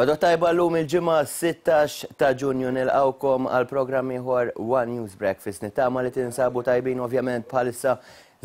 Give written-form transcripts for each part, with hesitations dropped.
L-għodwa t-tajba llum il-Ġimgħa 16 ta' Ġunju nilqgħukom għal programm ieħor One News Breakfast. Nittama li tinsabu tajbin ovvjament bħalissa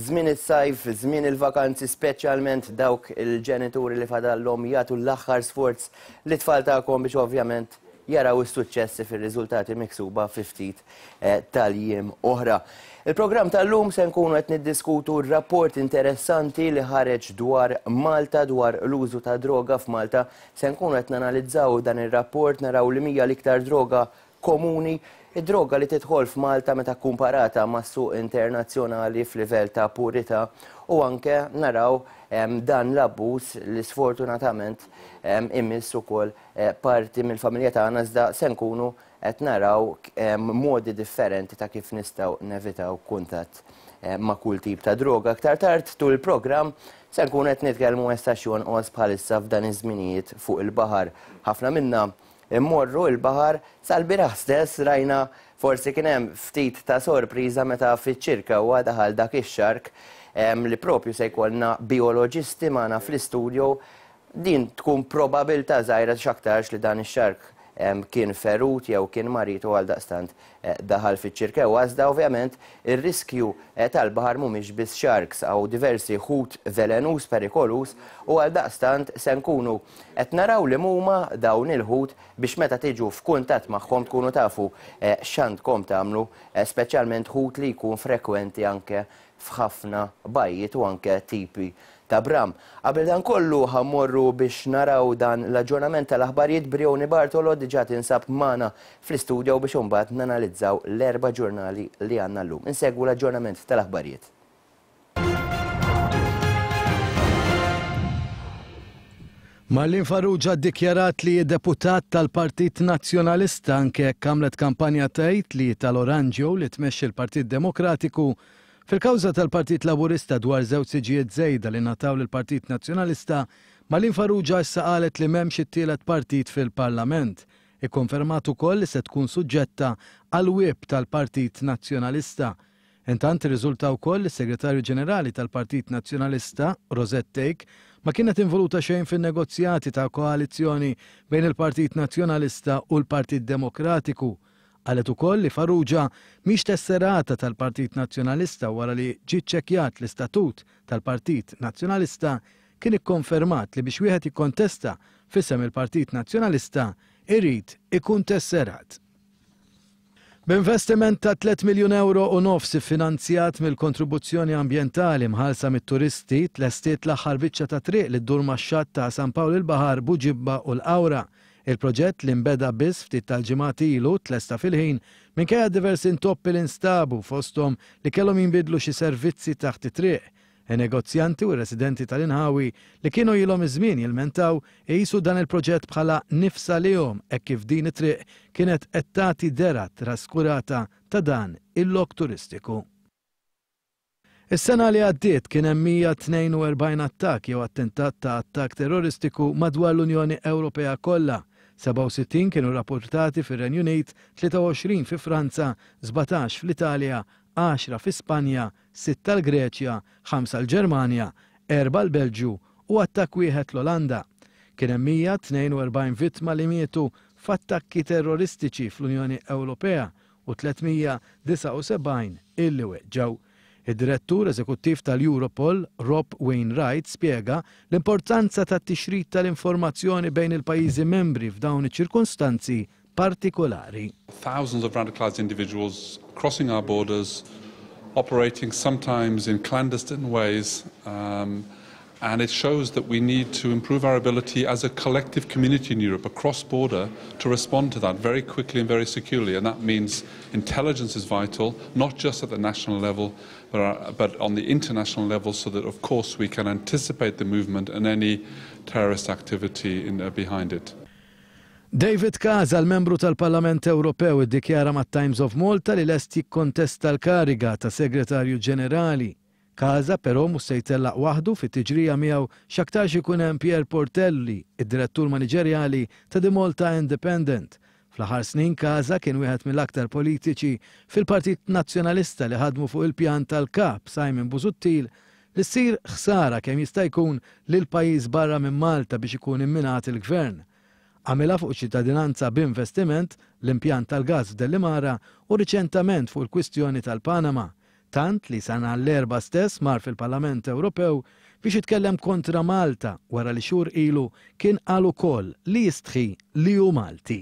żmien is-sajf, żmien il-vakanzi speċjalment dawk il-ġenituri li fadallhom jagħtu l-aħħar sforz lit-tfal tagħkom biex ovvjament jaraw is-suċċessi fir-riżultati miksuba fi ftit eh, tal-jiem oħra. Il-programm tal-lum se nkunu qed niddiskutu rapport interessanti li ħareġ dwar Malta dwar l-użu ta' droga f'Malta. Se nkunu qed nanalizzaw dan ir-rapport naraw li mija l-iktar droga komuni, id-droga li tidħol f'Malta meta kkumparata mas-suq internazzjonali f'livell ta' purità u anke naraw dan l-abbuż li sfortunatament imiss ukoll parti mill-familja tagħna iżda se nkunu qed naraw modi differenti ta' kif nistgħu nevitaw kuntatt ma' kull tip ta' droga. Aktar tard tul il-programm se nkunu qed nitkellmu issa x'jonqos bħalissa f'dan iż-żminijiet fuq il-baħar. Ħafna minna immorru l-baħar sal-bieraħ stess rajna forsi kien hemm ftit ta' sorpriża meta fiċ-Ċirkewwa daħal dak ix-xark li propju se jkollna bijoloġisti magħna fl-istudio Din tkun probabilità żgħira x'aktarx li dan ix-xark kien ferut jew kien marid u għaldaqstant daħal fiċ-Ċirkewwa. Iżda ovvjament ir-riskju tal-baħar mhumiex biss sharks, hawn diversi ħut velenuż, perikoluż u għaldaqstant se nkunu qed naraw li huma dawn il-ħut biex meta tiġu f'kuntatt magħhom tkunu tafu x'għandkom tagħmlu, speċjalment ħut li jkun frekwenti anke f'ħafna bajjiet u anke tipi ta' bram. Qabel dan kollu ħa mmorru biex naraw dan l-aġġornament tal-aħbarijiet Brioni Bartolo diġà tinsab magħna fl-istudio biex imbagħad nanalizzaw l-erba' ġurnali li għandna llum. Insegwu l-aġġornament tal-aħbarijiet. Marlene Farrugia ddikjarat li hi deputat tal-Partit Nazzjonalista anke jekk għamlet kampanja tgħid li hi tal-Oranġjo li tmexxi l-Partit Demokratiku. Fil-kawża tal-Partit Laburista dwar żewġ siġijiet żejda li ngħataw lill-Partit Nazzjonalista, Marlene Farrugia issa qalet li m'hemmx it-tielet partit fil-Parlament. Ikkonfermat ukoll li se tkun suġġetta għall-whip tal-Partit Nazzjonalista. Intant irriżulta wkoll li s-Segretarju Ġenerali tal-Partit Nazzjonalista, Rosette Thake, ma kienet involuta xejn fin-negozjati ta' koalizzjoni bejn il-Partit Nazzjonalista u l-Partit Demokratiku. Qalet ukoll li Farrugia mhix tesserata tal-Partit Nazzjonalista wara li ġie ċċekkjat l-istatut tal-Partit Nazzjonalista kien ikkonfermat li biex wieħed jikkontesta f'isem il-Partit Nazzjonalista jrid ikun tesserat. B'investiment ta' tlett miljun ewro u nofs iffinanzjat mill-kontribuzzjoni ambjentali mħallsa mit-turisti, tlestiet l-aħħar biċċa ta' triq li ddur max-xatt ta' San Pawl il-Baħar, Buġibba u l-Qawra. Il-proġett li nbeda biss ftit tal-ġimgħat ilu tlesta fil-ħin minkejja diversi intoppi li nstabu fosthom li kellhom jinbidlu xi servizzi taħt it-triq. In-negozjanti u r-residenti tal-inħawi li kienu ilhom iż-żmien jilmentaw iqisu dan il-proġett bħala nifs għalihom hekk kif din it-triq kienet qed tagħti dehra traskurata ta' dan il-lok turistiku. Is-sena li għaddiet kien hemm 142 attakk jew attentat ta' attakk terroristiku madwar l-Unjoni Ewropea kollha. 67 kienu rrappurtati fir-Renju Unit, 23 fi Franza, 17 fl-Italja, għaxra fi Spanja, sitta l-Greċja, ħamsa l-Ġermanja, erbgħa l-Belġju u attakk wieħed l-Olanda. Kien hemm 142 vittma li mietu f'attakki terroristiċi fl-Unjoni Ewropea u 379 illi weġġgħu. Id-Direttur Eżekuttiv tal-Europol, Rob Wainwright spjega l-importanza tat-tixrid tal-informazzjoni bejn il-pajjiżi membri f'dawn iċ-ċirkonstanzi partikolari. Thousands of radicalized individuals crossing our borders, operating sometimes in clandestine ways, um, and it shows that we need to improve our ability as a collective community in Europe, across border, to respond to that very quickly and very securely. And that means intelligence is vital, not just at the national level, but, uh, but on the international level, so that, of course, we can anticipate the movement and any terrorist activity in, uh, behind it. David Casa, l-Membru tal-Parlament Ewropew iddikjara mat-Times of Malta li lest jikkontesta l-kariga ta' Segretarju Ġenerali. Casa però mhux se jtellaq waħdu fit-tiġrija miegħu x'aktarx ikun hemm Pierre Portelli, id-Direttur Maniġerjali ta' The Malta Independent. Fl-aħħar snin Casa kien wieħed mill-aktar politiċi fil-Partit Nazzjonalista li ħadmu fuq il-pjan tal-Kap Simon Busuttil li ssir ħsara kemm jista' jkun lil pajjiż barra minn Malta biex ikun imminat il-Gvern. Għamilha fuq iċ-ċittadinanza b'investiment, l-impjant tal-gass f'Dellimara u riċentament fuq il-kwistjoni tal-Panama. Tant li sa nhar l-Erbgħa stess mar fil-Parlament Ewropew biex jitkellem kontra Malta wara li xhur ilu kien qal ukoll li jistħi li hu Malti.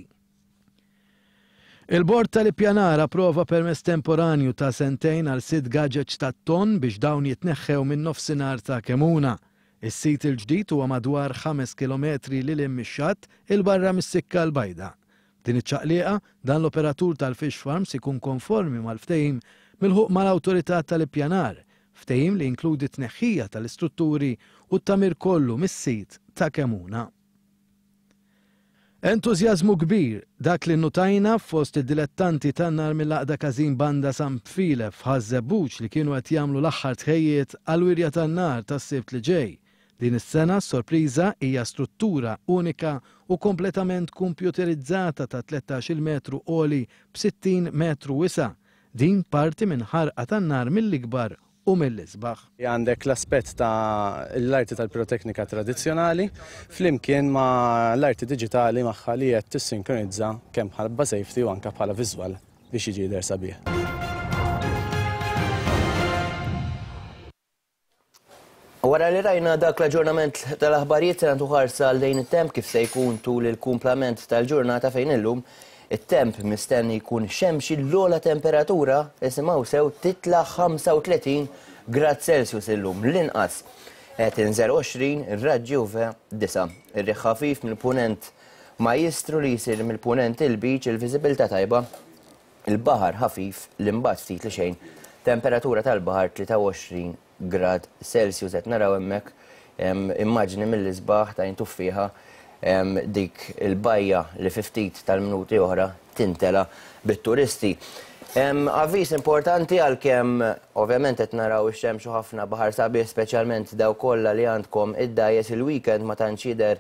Il-Bord tal-Ippjanar approva permess temporanju ta' sentejn għal sitt gaġeġ tat-tonn biex dawn jitneħħew min-nofsinhar ta' Kemuna. Is-sit il-ġdid huwa madwar ħames kilometri lil hinn mix-xatt 'il barra mis-Sikka l-Bajda. B'din iċ-ċaqliqa, dan l-operatur tal-fish farms ikun konformi mal-ftehim milħuq mal-Awtorità tal-Ippjanar, ftehim li jinkludi t-tneħħija tal-istrutturi u t-tagħmir kollu mis-sit ta' Kemuna. Entużjażmu kbir, dak li nnutajna fost id-dilettanti tan-nar mill-Għaqda Każin Banda San Pfile f'Ħaż-Żebbuġ li kienu qed jagħmlu l-aħħar tħejjiet għall-wirja tan-nar tas-Sibt li ġej. Din is-sena s-sorpriża hija struttura unika u kompletament kompjuterizzata ta' 13-il metru għoli b' 60 metru wisa'. Din parti minn ħarqa tan-nar mill-ikbar u mill-isbaħ. Għandek l-aspett ta' l-arti tal-piroteknika tradizzjonali flimkien ma' l-arti diġitali magħha li qed tissinkronizza kemm bħala safety u anke bħala viżwal biex jiġi jidher sabiħ. Wara li rajna dak l-aġġornament tal-aħbarijiet se nagħtu ħarsa lejn it-temp kif se jkun tul il-kumplament tal-ġurnata fejn illum it-temp mistenni jkun xemxi l-ogħla temperatura isimgħu sew titla' 35 grad Celsius illum l-inqas tinżel 20 ir-raġġi UV 9. Ir-riħ ħafif mill-punent majjistru li jsir mill-punent il-Lbiċ il-viżibilità tajba il-baħar ħafif li mbagħad ftit li xejn temperatura tal-baħar 23 grad Celsius qed naraw hemmhekk immaġni mill-isbaħ ta' tuffieħa dik il-bajja li fi ftit tal-minuti oħra tintela bit-turisti. Avviż importanti għalkemm ovvjament qed naraw ix-xemx u ħafna baħar sabiħ speċjalment dawk kollha li għandkom id-dgħajjes il-weekend ma tantx jidher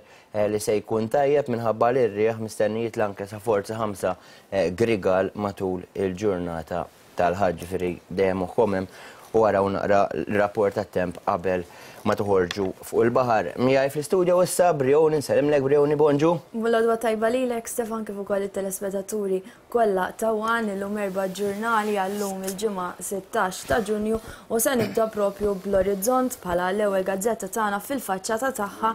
li se jkun tajjeb minħabba li r-riħ mistenni jitla' anke sa forza 5 grigal matul il-ġurnata tal-Ħadd, ġifieri dejjem moħħkom hemm u araw naqra l-rapport tat-temp qabel ma toħorġu fuq il-baħar. Miegħi fl-istudio issa Brioni, nsellimlek Brioni, bonġu. L-għodwa tajba lilek Stefan kif ukoll it-telespettaturi kollha ta' One illum erba' ġurnali għal-lum il-Ġimgħa 16 ta' Ġunju u se nibda propju bl-Orizzont bħala l-ewwel gazzetta tagħna fil-faċċata tagħha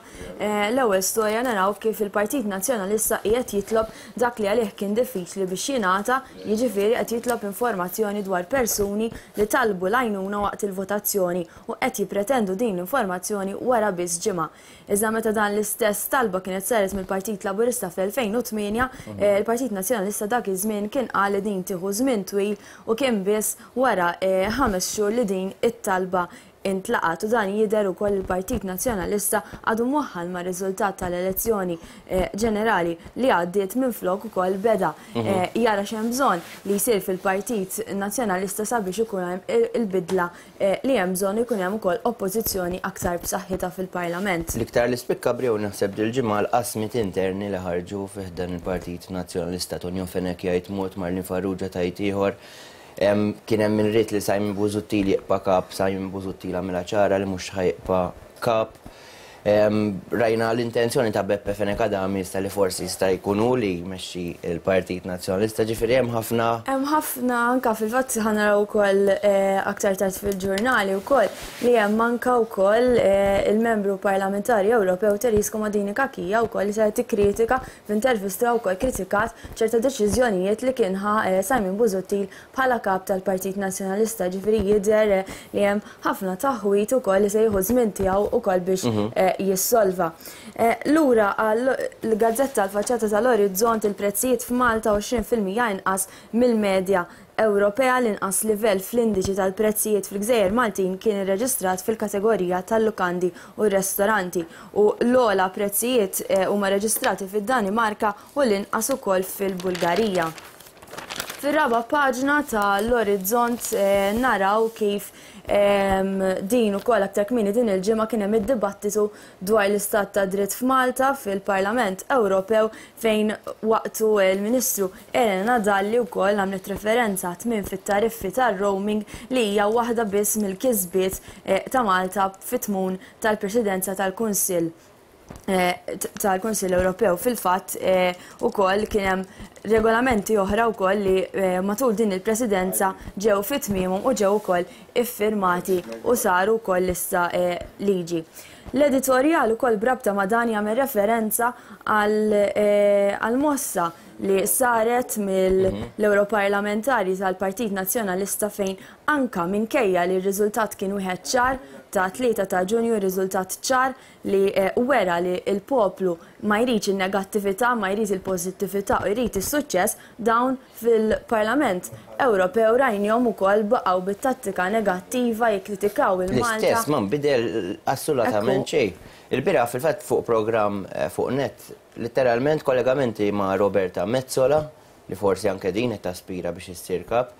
l-ewwel storja naraw kif il-Partit Nazzjonalista qiegħed jitlob dak li għalih kien diffiċli biex jingħata, jiġifieri qed jitlob informazzjoni dwar persuni li talbu l-għajnuna waqt il-votazzjoni u qed jippretendu din l-informazzjoni wara biss ġimgħa. Iżda meta dan l-istess talba kienet saret mill-Partit Laburista fl-2008, il-Partit Nazzjonalista dak iż-żmien kien qal li din tieħu żmien twil u kien biss wara ħames xhur li din it-talba intlaqat u dan jidher ukoll il-Partit Nazzjonalista għadu mwaħħal mar-riżultat tal-elezzjoni ġenerali li għaddiet minflok ukoll beda jara x'hemm bżonn li jsir fil-Partit Nazzjonalista sabiex ikun hemm il-bidla li hemm bżonn ikun hemm ukoll oppożizzjoni aktar b'saħħitha fil-Parlament. L-iktar li spikka Briu naħseb dil-ġimgħa l-qasmiet interni li ħarġu fi ħdan il-Partit Nazzjonalista. Tonio Fenech jgħid mod, Marlene Farrugia tgħid ieħor. Kien hemm min ried li Simon Busuttil jibqa' kap, Simon Busuttil għamilha ċara li mhux ħa jibqa' kap. Rajna l-intenzjoni ta' Beppe Fenech Adami issa li forsi jista' jkun hu li jmexxi l-Partit Nazzjonalista, ġifieri hemm ħafna. Hemm ħafna anke fil-fatt ħa naraw ukoll aktar tard fil-ġurnali wkoll li hemm anke wkoll il-membru parlamentari Ewropew Therese Comodini Cachia wkoll li saret tikkritika F'intervista wkoll kritikat ċerta deċiżjonijiet li kien ħa Simon Busuttil bħala kap tal-Partit Nazzjonalista, ġifieri jidher li hemm ħafna taħwid ukoll li se jieħu ż-żmien tiegħu ukoll biex jissolva. Lura għall-gazzetta l-faċċata tal-Orizzont il-prezzijiet f'Malta 20% inqas mill-medja Ewropea l-inqas livell fl-indiċi tal-prezzijiet fil-gżejjer Maltin kien irreġistrat fil-kategorija tal-lukandi u r-restoranti u l-ogħla prezzijiet huma reġistrati fid-Danimarka u l-inqas ukoll fil-Bulgarija. Fir-raba' paġna ta' l-Orizzont naraw kif din ukoll aktar kmieni din il-ġimgħa kien hemm id-dibattitu dwar l-istat tad-dritt f'Malta fil-Parlament Ewropew fejn waqtu l-Ministru Elena Dalli wkoll għamlet referenza għat-tmiem fit-tariffi tar-roaming li hija waħda biss mill-kisbiet ta' Malta fit-tmun tal-Presidenza tal-Kunsill. tal-Kunsill Ewropew. Fil-fatt ukoll kien hemm regolamenti oħra wkoll li matul din il-presidenza ġew fi tmiemhom u ġew ukoll iffirmati u saru wkoll issa liġi. L-editorjal ukoll b'rabta ma' dan jagħmel referenza għall-mossa li saret mill-Ewroparlamentari tal-Partit Nazzjonalista fejn anka minkejja li r-riżultat kien wieħed ċar ta' 3 ta' Ġunju, riżultat ċar li wera li l-poplu ma jridx in-negattività, ma jrid il-pożittività u jrid is-suċċess, dawn fil-Parlament Ewropew rajnihom ukoll baqgħu bit-tattika negattiva jikkritikaw il-Malta. L-istess, ma nbidel assolutament xejn. Ilbieraħ fil-fatt fuq programm fuq net, litteralment kollegamenti ma' Roberta Metsola, li forsi anke din qed taspira biex issir kap,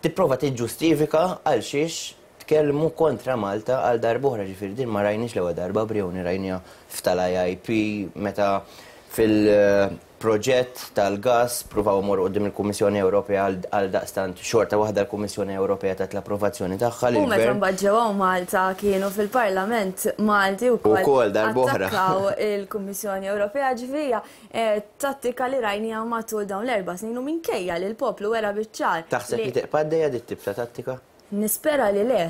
tipprova tiġġustifika għal xiex tkellmu kontra Malta għal darb'oħra, ġifieri din ma rajniex l-ewwel darba Brioni, rajniha f'tal-IIP meta fil-proġett tal-gass pruvaw imorru quddiem il-Kummissjoni Ewropea għal daqstant xorta waħda l-Kummissjoni Ewropea tat l-approvazzjoni tagħha U meta mbagħad ġew hawn Malta kienu fil-Parlament Malti wkoll Ukoll darb'oħra. attakkaw il-Kummissjoni Ewropea, ġifieri hija tattika li rajniha matul dawn l-erba' snin u minkejja li l-poplu wera biċ-ċar Taħseb li tibqa' għaddejja dit-tip ta' tattika? Nispera li le,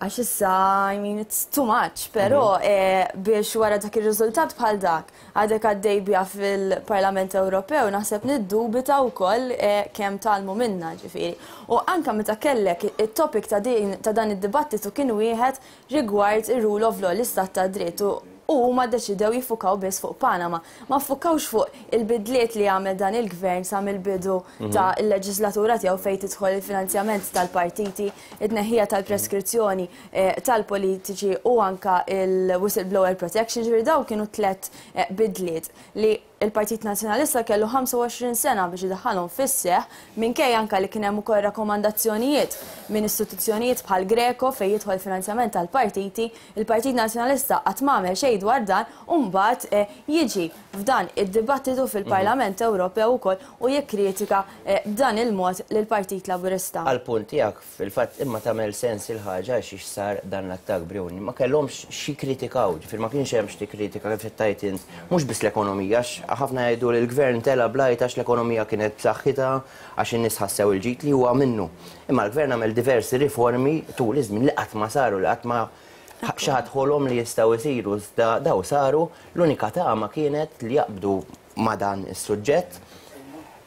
għax issa, I mean, it's too much, però biex wara dak ir-riżultat bħal dak għadek għaddej biha fil-Parlament Ewropew, naħseb niddubita wkoll kemm tgħallmu minna, ġifieri. U anke meta kellek it-topic ta' din ta' dan id-dibattitu kien wieħed rigward ir-rule of law, l-istat ta' dritt, u huma ddeċidew jiffukaw biss fuq Panama. Ma ffukawx fuq il-bidliet li għamel dan il-gvern sa mill-bidu ta' il-leġislatura tiegħu fejn tidħol il-finanzjament tal-partiti, it-tneħħija tal-preskrizzjoni tal-politiċi u anka il-whistleblower protection, ġifieri dawn kienu tlett bidliet li il-Partit Nazzjonalista kellu 25 sena biex idaħħalhom fis-seħħ minkejja anka li kien hemm ukoll rakkomandazzjonijiet minn istituzzjonijiet bħal Greco fejn jidħol finanzjament tal-partiti, il-Partit Nazzjonalista qatt m'għamel xejn dwar dan u mbagħad jiġi f'dan id-dibattitu fil-Parlament Ewropew ukoll u jikkritika b'dan il-mod lill-Partit Laburista. Għall-punt tiegħek fil-fatt imma tagħmel sens il-ħaġa għax xiex sar dan l-attakk Brioni. Ma kellhomx x'jikkritikaw, ġifieri ma kienx hemm x'tikkritika kif qed tgħid int, mhux biss l-ekonomija għax ħafna jgħidu li l-gvern tela' bl-għajta għax l-ekonomija kienet b'saħħitha, għax in-nies ħassew il-ġid li huwa minnu. Imma l-gvern għamel diversi riformi tul iż-żmien li qatt ma saru, li qatt ma xi ħadd ħolom li jistgħu jsiru, iżda daw saru, l-unika tama kienet li jaqbdu ma' dan is-suġġett.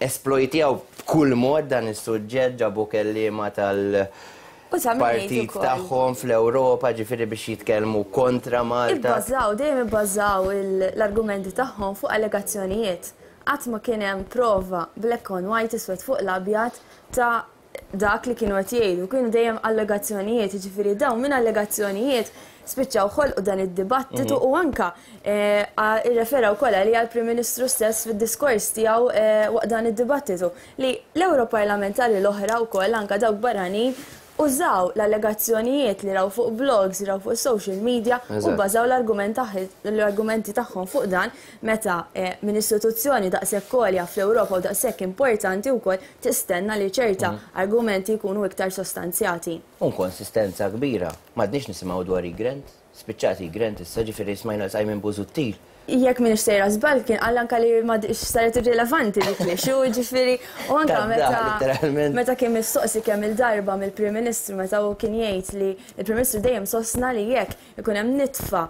Esplojtjaw b'kull mod dan is-suġġett, ġabu kelliema tal-partit tagħhom fl-Ewropa, ġifieri biex jitkellmu kontra Malta. Ibbażaw, dejjem ibbażaw l-argumenti tagħhom fuq allegazzjonijiet. Qatt ma kien hemm prova black on white, iswed fuq l-abjad ta' dak li kienu qed jgħidu, kienu dejjem allegazzjonijiet, jiġifieri dawn minn allegazzjonijiet spiċċaw ħolqu dan id-dibattitu u anka irrefera wkoll għalija l-Prim Ministru stess fid-diskors tiegħu waqt dan id-dibattitu li l-Ewroparlamentari l-oħra wkoll anka dawk barranin użaw l-allegazzjonijiet li raw fuq blogs, raw fuq social media u bbażaw l-argumenti tagħhom fuq dan meta minn istituzzjoni daqshekk għolja fl-Ewropa u daqshekk importanti wkoll tistenna li ċerta argumenti jkunu iktar sostanzjati. U nkonsistenza kbira. M'għadniex nisimgħu dwar e-grant. Spiċċat e-grant issa, ġifieri smajna Simon Busuttil. Jekk m'iniex sejra żball kien qal anka li ma saret irrilevanti dik l-issue, ġifieri u anka meta meta kien mistoqsi kemm il-darba mill-Prim Ministru meta hu kien jgħid li l-Prim Ministru dejjem sostna li jekk ikun hemm nitfa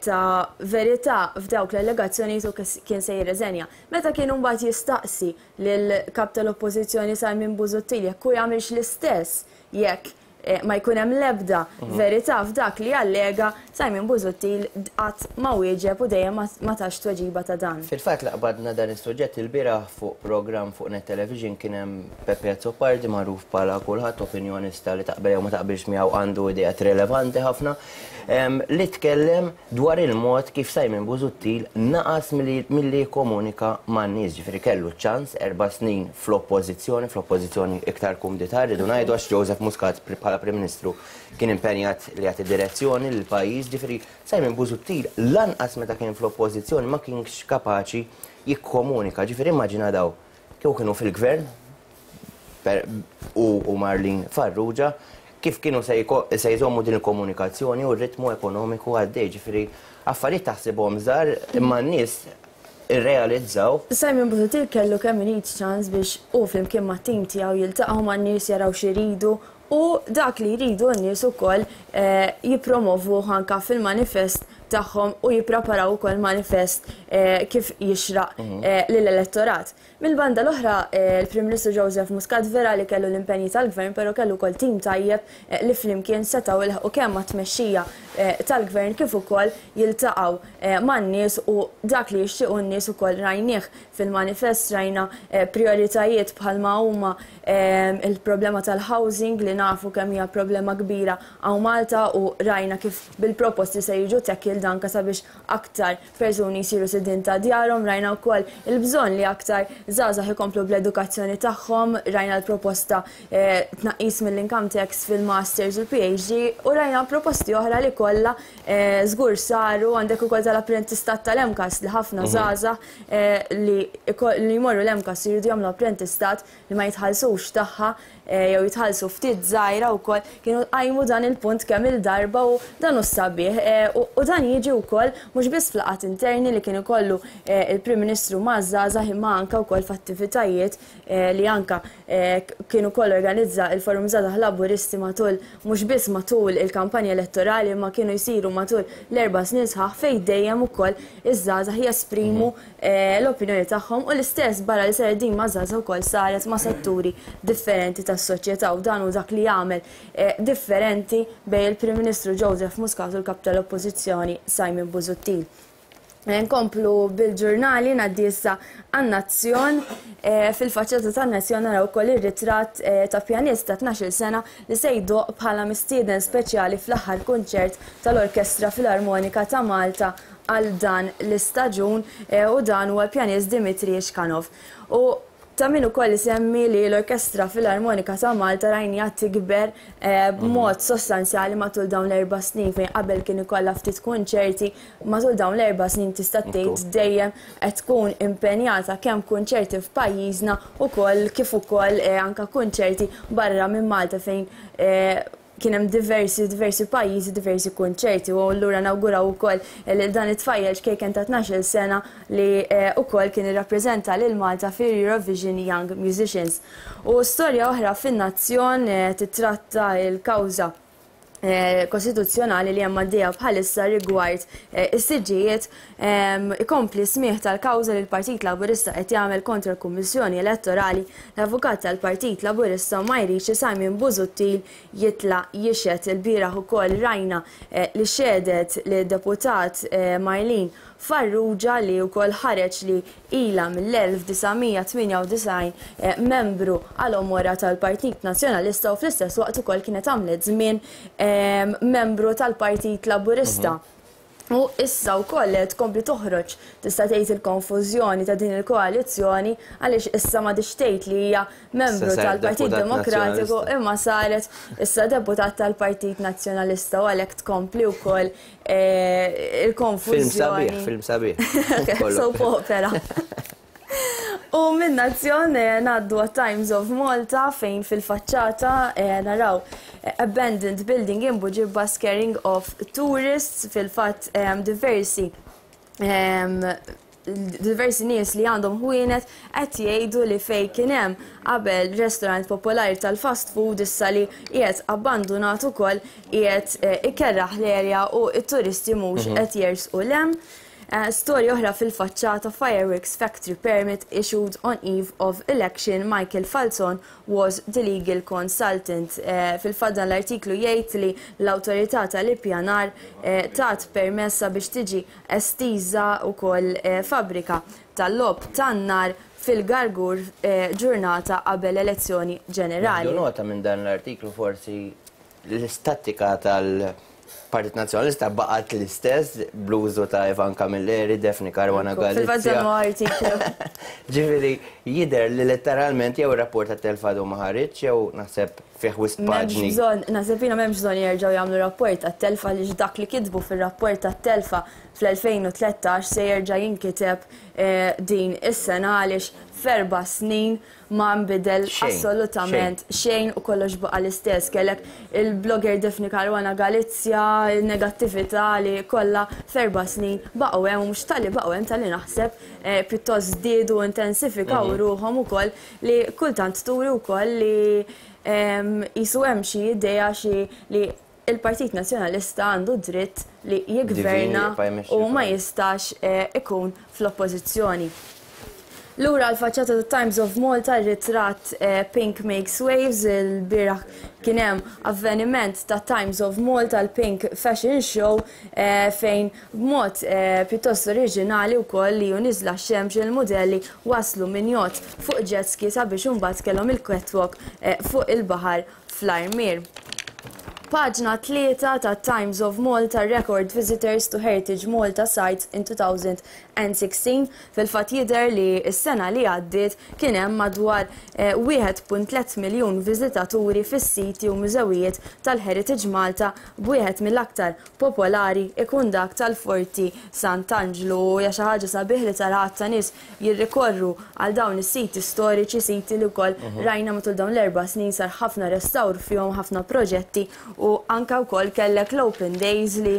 ta' verità f'dawk l-allegazzjonijiet hu kien se jirreżenja. Meta kien imbagħad jistaqsi lill-Kap tal-Oppożizzjoni Simon Busuttil jekk hu jagħmilx l-istess jekk ma jkun hemm l-ebda verità f'dak li allega, Simon Busuttil qatt ma wieġeb u dejjem ma tax tweġiba ta' dan. Fil-fatt laqbadna dan is-suġġett ilbieraħ fuq programm fuq Net Television kien hemm Peppe Azzopardi magħruf bħala kulħadd opinjonista li taqbel jew ma taqbilx miegħu għandu ideat rilevanti ħafna li tkellem dwar il-mod kif Simon Busuttil naqas milli jikkomunika man-nies, ġifieri kellu ċ-ċans erba' snin fl-Oppożizzjoni, fl-Oppożizzjoni iktar kumdità rridu ngħidu għax Joseph Muscat bħala Prim Ministru kien impenjat li jagħti direzzjoni lill-pajjiż, ġifieri Simon Busuttil lanqas meta kien fl-Oppożizzjoni ma kienx kapaċi jikkomunika, ġifieri immaġina daw kieku kienu fil-Gvern hu u Marlene Farrugia. Kif kienu se jżommu din il-komunikazzjoni u r-ritmu ekonomiku għaddej, ġifieri affarijiet taħsibhom żgħar imma n-nies irrealizzaw. Simon Busuttil kellu kemm irid ċans biex hu flimkien mat-tim tiegħu jiltaqgħu man-nies jaraw x'iridu u dak li jridu n-nies ukoll jippromovuh anke fil-manifest tagħhom u jippreparaw ukoll manifest kif jixraq lill-elettorat. Mill-banda l-oħra, il-Prim Ministru Joseph Muscat vera li kellu l-impenji tal-Gvern però kellu wkoll tim tajjeb li flimkien setgħu ilħqu kemm mat-tmexxija tal-Gvern kif ukoll jiltaqgħu man-nies u dak li jixtiequ n-nies ukoll rajnieh fil-manifest, rajna prijoritajiet bħalma huma il-problema tal-housing li nafu kemm hija problema kbira hawn Malta u rajna kif bil-proposti se jiġu tackled anke sabiex aktar persuni jsiru sidien ta' djarhom, rajna wkoll il-bżonn li aktar żgħażagħ ikomplu bl-edukazzjoni tagħhom, rajna l-proposta tnaqqis mill-income tax fil-masters u l-PhD u rajna proposti oħra li kollha żgur saru, għandek ukoll tal-apprentistat tal-MCAST li ħafna żgħażagħ li jmorru l-MCAST jridu jagħmlu apprentistat li ma jitħallsux tagħha jew jitħallsu ftit żgħira wkoll kienu qajmu dan il-punt kemm-il darba u dan hu s-sabiħ u dan jiġi wkoll mhux biss f'laqgħat interni li kien ikollu il-Prim Ministru maż-żgħażagħ imma anke wkoll f'attivitajiet li anke kien ukoll organizza il-Forum Żgħażagħ Laburisti matul mhux biss matul il-kampanja elettorali imma kienu jsiru matul l-erba' snin sħaħ fejn dejjem ukoll iż-żgħażagħ jesprimu l-opinjoni tagħhom u l-istess barra li saret din maż-żgħażagħ ukoll saret ma' setturi differenti tas-soċjetà u dan hu dak li jagħmel differenti bejn il-Prim Ministru Joseph Muscat u l-Kap tal-Oppożizzjoni Simon Busuttil. Nkomplu bil-ġurnali ngħaddi issa għan-Nazzjon. Fil-faċċata tan-Nazzjon naraw ukoll ir-ritratt ta' pjanist ta' 12-il sena li se jdoqq bħala mistieden speċjali fl-aħħar kunċert tal-Orkestra Filarmonika ta' Malta għal dan l-istaġun u dan huwa l-pjanist Dimitri Ishkanov. U ta' min ukoll isemmi li l-Orkestra Filarmonika ta' Malta rajniha tikber b'mod sostanzjali matul dawn l-erba' snin fejn qabel kien ikollha ftit kunċerti, matul dawn l-erba' snin tista' tgħid dejjem qed tkun impenjata kemm kunċerti f'pajjiżna ukoll kif ukoll anke kunċerti barra minn Malta fejn Kien hemm diversi diversi pajjiżi, diversi kunċerti u allura nawguraw ukoll lil dan it-tfajjel ċkejken ta' 12-il sena li ukoll kien irrappreżenta lil Malta fil-Eurovision Young Musicians. U storja oħra fin-Nazzjon titratta l-kawża kostituzzjonali li hemm għaddejja bħalissa rigward is-siġġijiet Ikompli s-smigħ tal-kawża li l-Partit Laburista qed jagħmel kontra l-Kummissjoni Elettorali, l-Avukat tal-Partit Laburista ma jridx li Simon Busuttil jitla' jixhed. Ilbieraħ ukoll rajna li xehdet lid-Deputat Marlene Farrugia li wkoll ħareġ li ilha mill-1998 membru għal għomorha tal-Partit Nazzjonalista u fl-istess waqt ukoll kienet għamlet żmien membru tal-Partit Laburista. U issa wkoll tkompli toħroġ tista' tgħid il-konfużjoni ta' din il-koalizzjoni għaliex issa m'għadhiex tgħid li hija membru tal-Partit Demokratiku imma saret issa deputat tal-Partit Nazzjonalista u għalhekk tkompli wkoll il-konfużjoni. Film sabiħ, film sabiħ. Soap opera. U minn Nazzjon ngħaddu għat-Times of Malta fejn fil-faċċata naraw abandoned building in Buġibba scaring off tourists fil-fatt diversi diversi nies li għandhom ħwienet qed jgħidu li fejn kien hemm qabel restaurant popolari tal-fast food issa li qiegħed abbandunat ukoll qiegħed ikerraħ l-area u t-turisti mhux qed jersqu 'l hemm. Storja oħra fil-faċċata Fireworks factory permit issued on eve of election Michael Falzon was the legal consultant. Fil-fatt dan l-artiklu jgħid li l-Awtorità tal-Ippjanar tat permess sabiex tiġi estiża wkoll fabbrika tal-logħob tan-nar fil-Gargur ġurnata qabel elezzjoni ġenerali. Nieħdu nota minn dan l-artiklu forsi L-istattika tal-Partit Nazzjonalista baqgħet l-istess bl-użu ta' Ivan Camilleri, Daphne Caruana Galizia. Fil-fatt dan huwa artiklu. Ġifieri jidher li letteralment jew ir-rapport tat-telf għadu ma ħariġx jew naħseb Fih wisq paġni. M'hemmx bżonn, naħseb jiena m'hemmx bżonn jerġgħu jagħmlu rapport tat-telfa għaliex dak li kitbu fir-rapport tat-telfa fl-2013 se jerġa' jinkiteb din is-sena għaliex f'erba' snin ma nbidel assolutament xejn u kollox baqa' l-istess. Kellek il-blogger Daphne Caruana Galizia, il-negattività li kollha f'erba' snin baqgħu hemm u mhux talli baqgħu hemm talli naħseb pjuttost żdiedu u intensifikaw ruħhom ukoll li kultant turi wkoll li qisu hemm xi idea xi li l-Partit Nazzjonalista għandu dritt li jiggverna u ma jistax ikun fl-Oppożizzjoni. Lura għall-faċċata tat-Times of Malta r-ritratt Pink Makes Waves, ilbieraħ kien hemm avveniment tat-Times of Malta l-Pink Fashion Show fejn B'mod pjuttost oriġinali wkoll li hu niżla x-xemx il-mudelli waslu minn jott fuq jet ski sabiex imbagħad kellhom il-catwalk fuq il-baħar fl-Armier. Paġna 3 ta' Times of Malta Record Visitors to Heritage Malta Sites in 2016 Fil-fatt jidher li s-sena li għaddiet kien hemm madwar 1.3 miljun viżitaturi fis-siti u mużewijiet tal-Heritage Malta b'wieħed mill-aktar popolari ikun dak tal-Forti Sant'Anġlu u hija xi ħaġa sabiħ li tara għadd ta' nies jirrikorru għal dawn is-siti storiċi, siti li wkoll rajna matul dawn l-erba' snin sar ħafna restawr fihom, ħafna proġetti u anke wkoll kellek l-open days li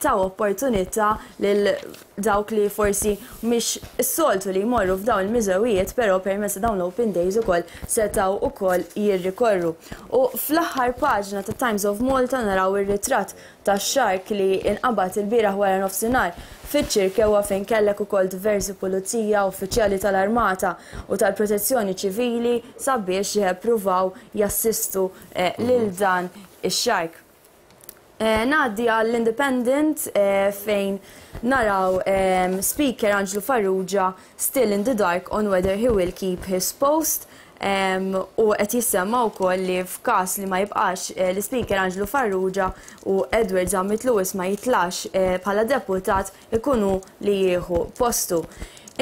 taw opportunità lil dawk li forsi mhix is-soltu li jmorru f'dawn il-miżewijiet però permezz ta' dawn l-open days ukoll setgħu ukoll jirrikorru. U fl-aħħar paġna ta' Times of Malta naraw ir-ritratt tax-shark li inqabad ilbieraħ wara nofsinhar fiċ-Ċirkewwa fejn kellek ukoll diversi pulizija, uffiċjali tal-armata u tal-protezzjoni ċivili sabiex pruvaw jassistu lil dan ix-shark. Ngħaddi għall-Independent fejn naraw Speaker Anġlu Farrugia still in the dark on whether he will keep his post u qed jissemma wkoll li f'każ li ma jibqax l-Ispeaker Anġlu Farrugia u Edward Zammit Lewis ma jitlax bħala deputat ikun hu li jieħu postu.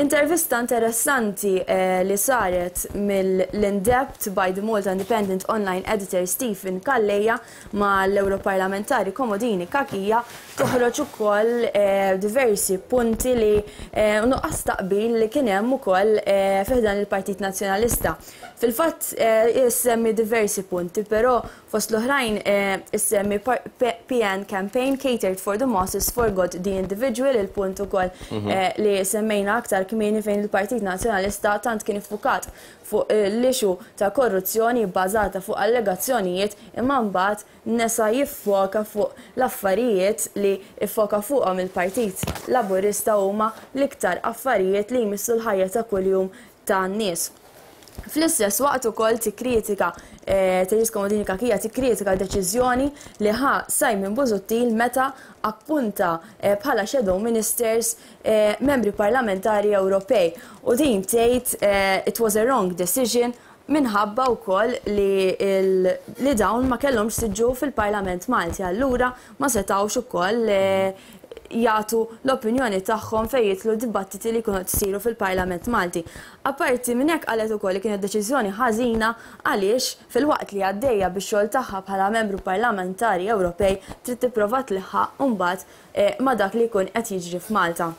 Intervista interessanti li saret mill-Indept by the Malta Independent Online Editor Stephen Calleja mal-Ewroparlamentari Comodini Cachia toħroġ ukoll diversi punti li nuqqas ta' qbil li kien hemm ukoll fi ħdan il-Partit Nazzjonalista. Fil-fatt issemmi diversi punti, però fost l-oħrajn issemmi PN campaign catered for the masses forgot the individual, il-punt ukoll li semmejna aktar kmieni fejn il-Partit Nazzjonalista tant kien iffukat fuq l-issue ta' korruzzjoni bbażata fuq allegazzjonijiet imma mbagħad nesa jiffoka fuq l-affarijiet li ffoka fuqhom il-Partit Laburista huma l-iktar affarijiet li jmissu l-ħajja ta' kuljum tan-nies. Fl-istess waqt ukoll tikkritika Therese Comodini Cachia tikkritika deċiżjoni li ħa Simon Busuttil meta appunta bħala shadow ministers membri parlamentari Ewropej u din tgħid it was a wrong decision minħabba wkoll li li dawn ma kellhomx siġġu fil-Parlament Malti allura ma setgħux ukoll jagħtu l-opinjoni tagħhom fejn jidħlu dibattiti li jkunu qed isiru fil-Parlament Malti. Apparti minn hekk qalet ukoll li kienet deċiżjoni ħażina għaliex filwaqt li għaddejja bix-xogħol tagħha bħala membru parlamentari Ewropej trid tipprova tliħħaq mbagħad ma' dak li jkun qed jiġri f'Malta.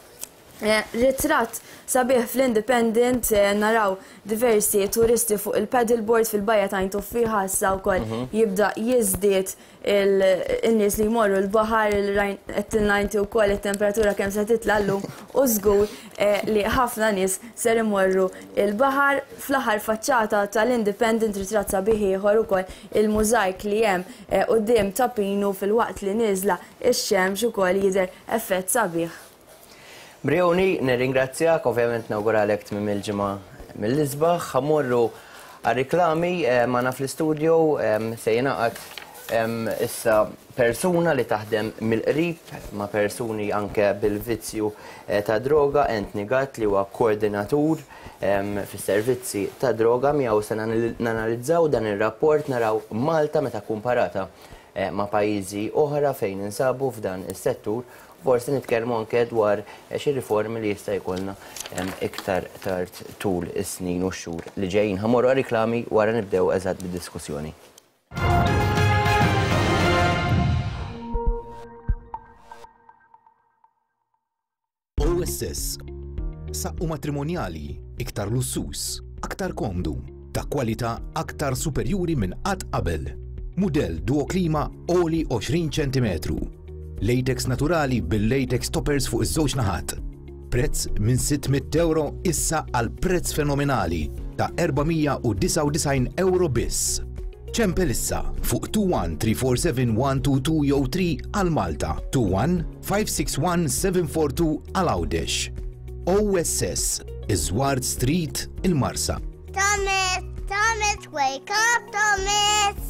Ritratt sabiħ fl-Independent naraw diversi turisti fuq il-paddleboard fil-bajja ta' Għajn Tuffieħa issa wkoll jibda jiżdied in-nies li jmorru l-baħar, qed tilna inti wkoll it-temperatura kemm se titla' llum u żgur li ħafna nies ser imorru l-baħar. Fl-aħħar faċċata tal-Independent ritratt sabiħ ieħor ukoll il-mużajk li hemm quddiem Ta' Pinu filwaqt li nieżla Ix-xemx ukoll jidher effett sabiħ. Brioni, nirringrazzjak, ovvjament nawguralek tmiem il-ġimgħa mill-isbaħ. Ħa mmorru għar-riklami, magħna fl-istudio se jingħaqad issa persuna li taħdem mill-qrib ma' persuni anke bil-vizzju ta' droga, Anthony Gatt li huwa koordinatur fis-servizzi ta' droga miegħu se nanalizzaw dan ir-rapport naraw Malta meta kumparata ma' pajjiżi oħra fejn ninsabu f'dan is-settur, forsi nitkellmu anke dwar xi riformi li jista' jkollna iktar tard tul is-snin u x-xhur li ġejjin. Ħa mmorru għar-riklami wara nibdew eżatt bid-diskussjoni. OSS. Saqqu matrimonjali, iktar lussuż, aktar komdu, ta' kwalità aktar superjuri minn qatt qabel. Mudell Duo Klima għoli 20 ċentimetru. Latex naturali bil-latex toppers fuq iż-żewġ naħat. Prezz minn 600 euro issa għal prezz fenomenali ta' 499 euro biss. Ċempel issa fuq 21 347 122 jew 3 għal Malta, 21 561 742 għal Għawdex. OSS, Iż-Żward Street, il-Marsa. Thomas, Thomas, wake up, Thomas!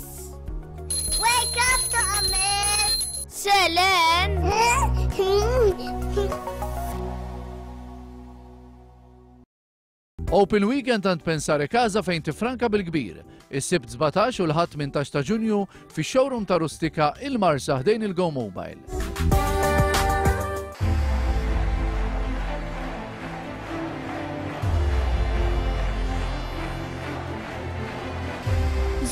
Wake up, Thomas! Selen! Open Weekend għand Pensare Casa fejn tifranka bil-kbir. Is-Sibt 17 u l-Ħadd 18 ta' Ġunju fix-showroom ta' Rustika il-Marsa ħdejn il-Go Mobile.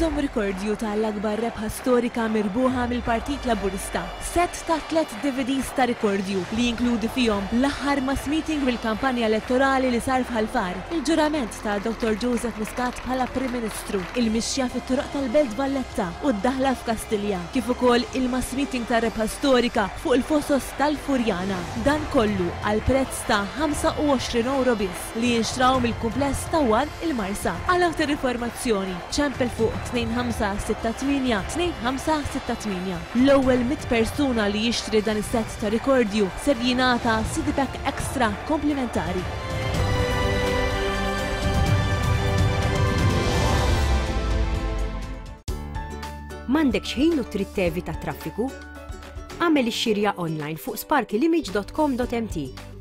Żomm rikordju ta' l-akbar rebħa storika mirbuħa mill-Partit Laburista. Sett ta' tlett DVDs ta' rikordju li jinkludi fihom l-aħħar mass meeting mill-kampanja elettorali li sar f'Ħal Far, il-ġurament ta' Dottor Joseph Muscat bħala Prim Ministru, il-mixja fit-toroq tal-Belt Valletta u d-daħla f'Kastilja, kif ukoll il-mass meeting tar-rebħa storika fuq il-Fosos tal-Furjana. Dan kollu għal prezz ta' 25 ewro biss. li jinxtraw mill-kumpless ta' One il-Marsa. Għal aktar informazzjoni, ċempel fuq 2568 2568. L-ewwel 100 persuna li jixtri dan is-sett ta' rikordju ser jingħata CD pack extra komplimentari. M'għandekx ħin u trid tevita t-traffiku? Agħmel ix-xirja online fuq sparkylimage.com.mt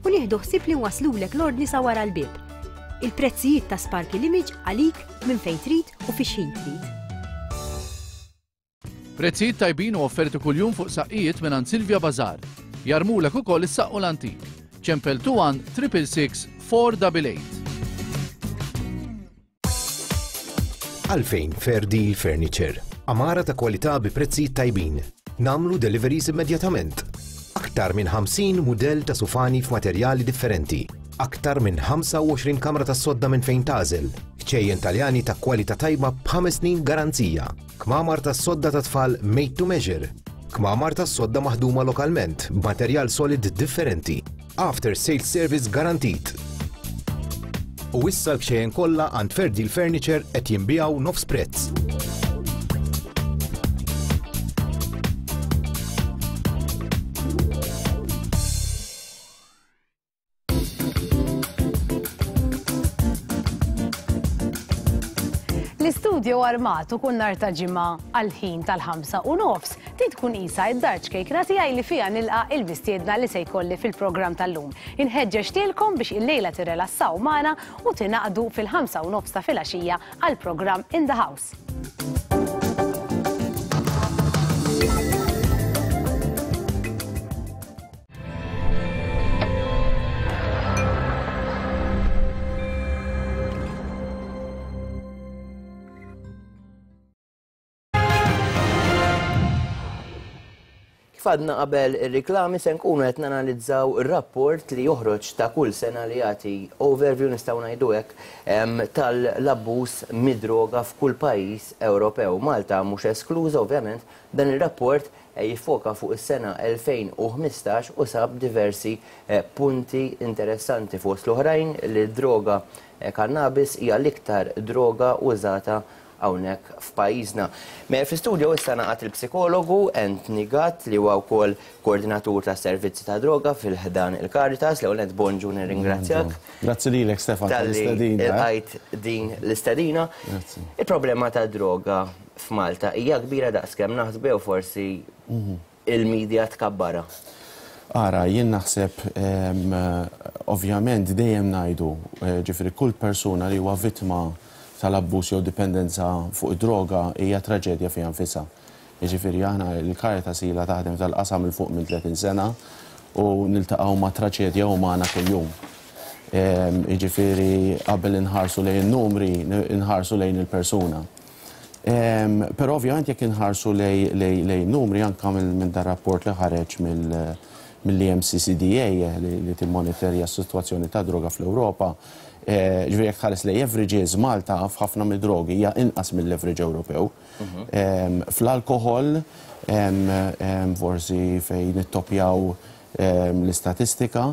u nieħdu ħsieb li nwasslulek l-ordni sa wara l-bieb. Il-prezzijiet ta' Sparky Limage għalik minn fejn trid u fi x'ħin trid. Prezzijiet tajbin u offerti kuljum fuq saqqijiet mingħand Silvia Bazar. Jarmulek ukoll is-saqqu l-antik. Ċempel 21 666 488. Għalfejn Fair Deal Furniture? Għamara ta' kwalità bi prezzijiet tajbin. Nagħmlu deliveries immedjatament. Aktar minn 50 mudell ta' sufani f'materjali differenti. Aktar minn 25 kamra tas-sodda minn fejn tagħżel. Kċejjen Taljani ta' kwalità tajba b'ħames snin garanzija. Kmamar tas-sodda ta' tfal made to measure. Kmamar tas-sodda maħduma lokalment b'materjal solid differenti. After sales service garantit. U issa l-kxejjen kollha għand Fair Deal Furniture qed jinbiegħu nofs prezz. L-istudju armat u kull nhar ta' ġimgħa għall-ħin tal-5:30 Din tkun qisha id-dar ċkejkna tiegħi li fiha nilqa' il-mistiedna li se jkolli fil-programm tal-lum. Inħeġġeġ lilkom biex illejla tirrelassaw magħna u tingħaqdu fil-5:30 ta' filgħaxija għall-programm In the House. Kif għadna qabel ir-riklami se nkunu qed nanalizzaw ir-rapport li joħroġ ta' kull sena li jagħti overview nistgħu ngħidu hekk tal-abbuż mid-droga f'kull pajjiż Ewropew. Malta mhux eskluża ovvjament, dan ir-rapport jiffoka fuq is-sena 2015 u sab diversi punti interessanti fost l-oħrajn li d-droga cannabis hija l-iktar droga użata hawnhekk f'pajjiżna. Miegħi fl-istudio issa ngħaqad il-psikologu Anthony Gatt li huwa wkoll koordinatur tas-servizzi ta' droga fil-ħdan il-Caritas. L-ewwel nett bonġu nirringrazzjak. Grazzi lilek Stefan tal-istedina. Talli lqajt din l-istedina. Il-problema tad-droga f'Malta hija kbira daqskemm naħsbu jew forsi il-media tkabbarha? Ara, jien naħseb, ovvjament dejjem ngħidu, ġifieri kull persuna li huwa vittma tal-abbuż jew dipendenza fuq id-droga hija traġedja fiha nfisha. Jiġifieri aħna l-Caritas ilha taħdem f'dal-qasam 'il fuq minn 30 sena u niltaqgħu ma' traċedja umana kuljum. Jiġifieri qabel inħarsu lejn in-numri, inħarsu lejn il-persuna. Però ovvjament jekk inħarsu lejn numri anke minn dar rapport li ħareġ mill-EMCCDA li timmonitorja s-sitwazzjoni tad-droga fl-Ewropa. Ġifieri jekk tħares lejn averages, Malta f'ħafna mid-drogi hija inqas mill-average Ewropew. Fl-alkoħol forsi fejn nittoppjaw l-istatistika,